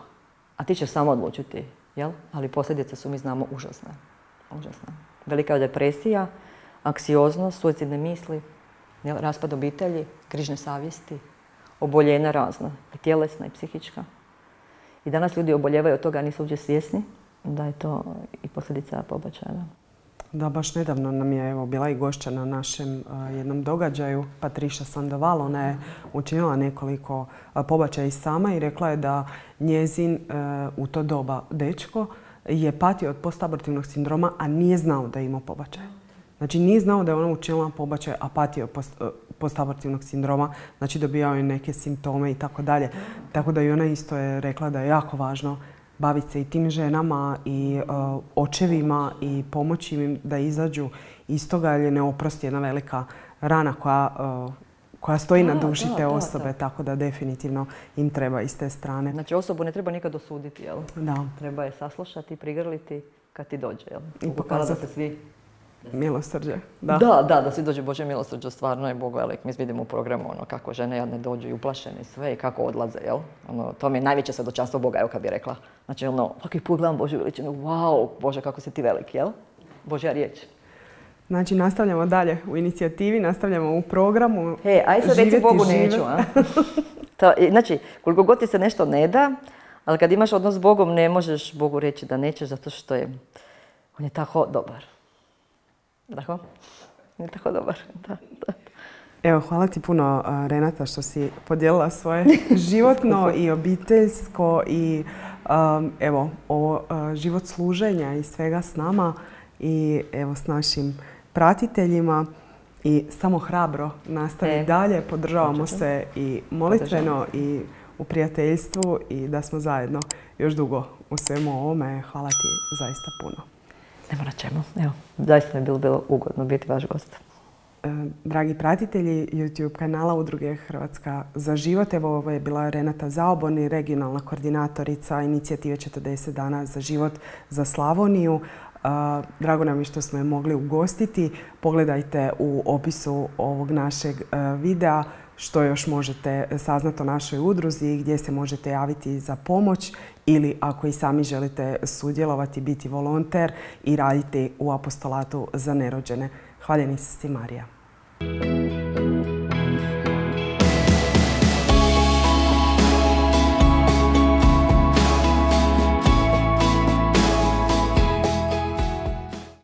A ti ćeš samo odlučiti, jel? Ali posljedice su, mi znamo, užasne. Užasne. Velika je depresija, anksioznost, suicidne misli, raspad obitelji, grižne savjesti, oboljenja razna, i tjelesna i psihička. I danas ljudi oboljevaju od toga, nisu uopće svjesni da je to i posljedica pobačaja. Da, baš nedavno nam je bila i gošća na našem jednom događaju, Patricia Sandoval. Ona je učinila nekoliko pobačaja i sama i rekla je da njezin u to doba dečko je patio od postabortivnog sindroma, a nije znao da je imao pobačaj. Znači nije znao da je ona učinila pobačaj, a patio postabortivnog sindroma, znači dobijao je neke simptome i tako dalje. Tako da i ona isto je rekla da je jako važno baviti se i tim ženama i očevima i pomoći im da izađu iz toga, jer je neoprosti jedna velika rana koja stoji na duši te osobe, tako da definitivno im treba iz te strane. Znači osobu ne treba nikad osuditi, jel? Da. Treba je saslušati, prigrliti kad ti dođe, jel? I pokazati da se svi... Milosrđe. Da, svi dođe Božje milosrđe, stvarno je Bog velik. Mi vidimo u programu kako žene jadne dođu i uplašene sve i kako odlaze, jel? To mi je najveće svjedočanstvo Boga, evo kad bih rekla. Znači, svaki put gledam Božju veličinu, wow, Bože, kako si ti velik, jel? Božja riječ. Znači, nastavljamo dalje u inicijativi, nastavljamo u programu. Aj sad reci Bogu neću, a? Znači, koliko god ti se nešto ne da, ali kad imaš odnos s Bogom, ne možeš Bogu reći da nećeš, zato što on je tako dobar. Tako? Nije tako dobar. Da. Evo, hvala ti puno, Renata, što si podijelila svoje životno i obiteljsko i život služenja i svega s nama i evo s našim pratiteljima. I samo hrabro nastavi dalje, podržavamo se i molitveno i u prijateljstvu i da smo zajedno još dugo u svemu ovome. Hvala ti zaista puno. Nema na čemu. Evo, zaista mi je bilo ugodno biti vaš gost. Dragi pratitelji YouTube kanala Udruge Hrvatska za život, evo ovo je bila Renata Zaoboni, regionalna koordinatorica inicijative 40 dana za život za Slavoniju. Drago nam je što smo je mogli ugostiti. Pogledajte u opisu ovog našeg videa što još možete saznati o našoj udruzi, gdje se možete javiti za pomoć ili ako i sami želite sudjelovati, biti volonter i raditi u apostolatu za nerođene. Hvaljeni si, Marija.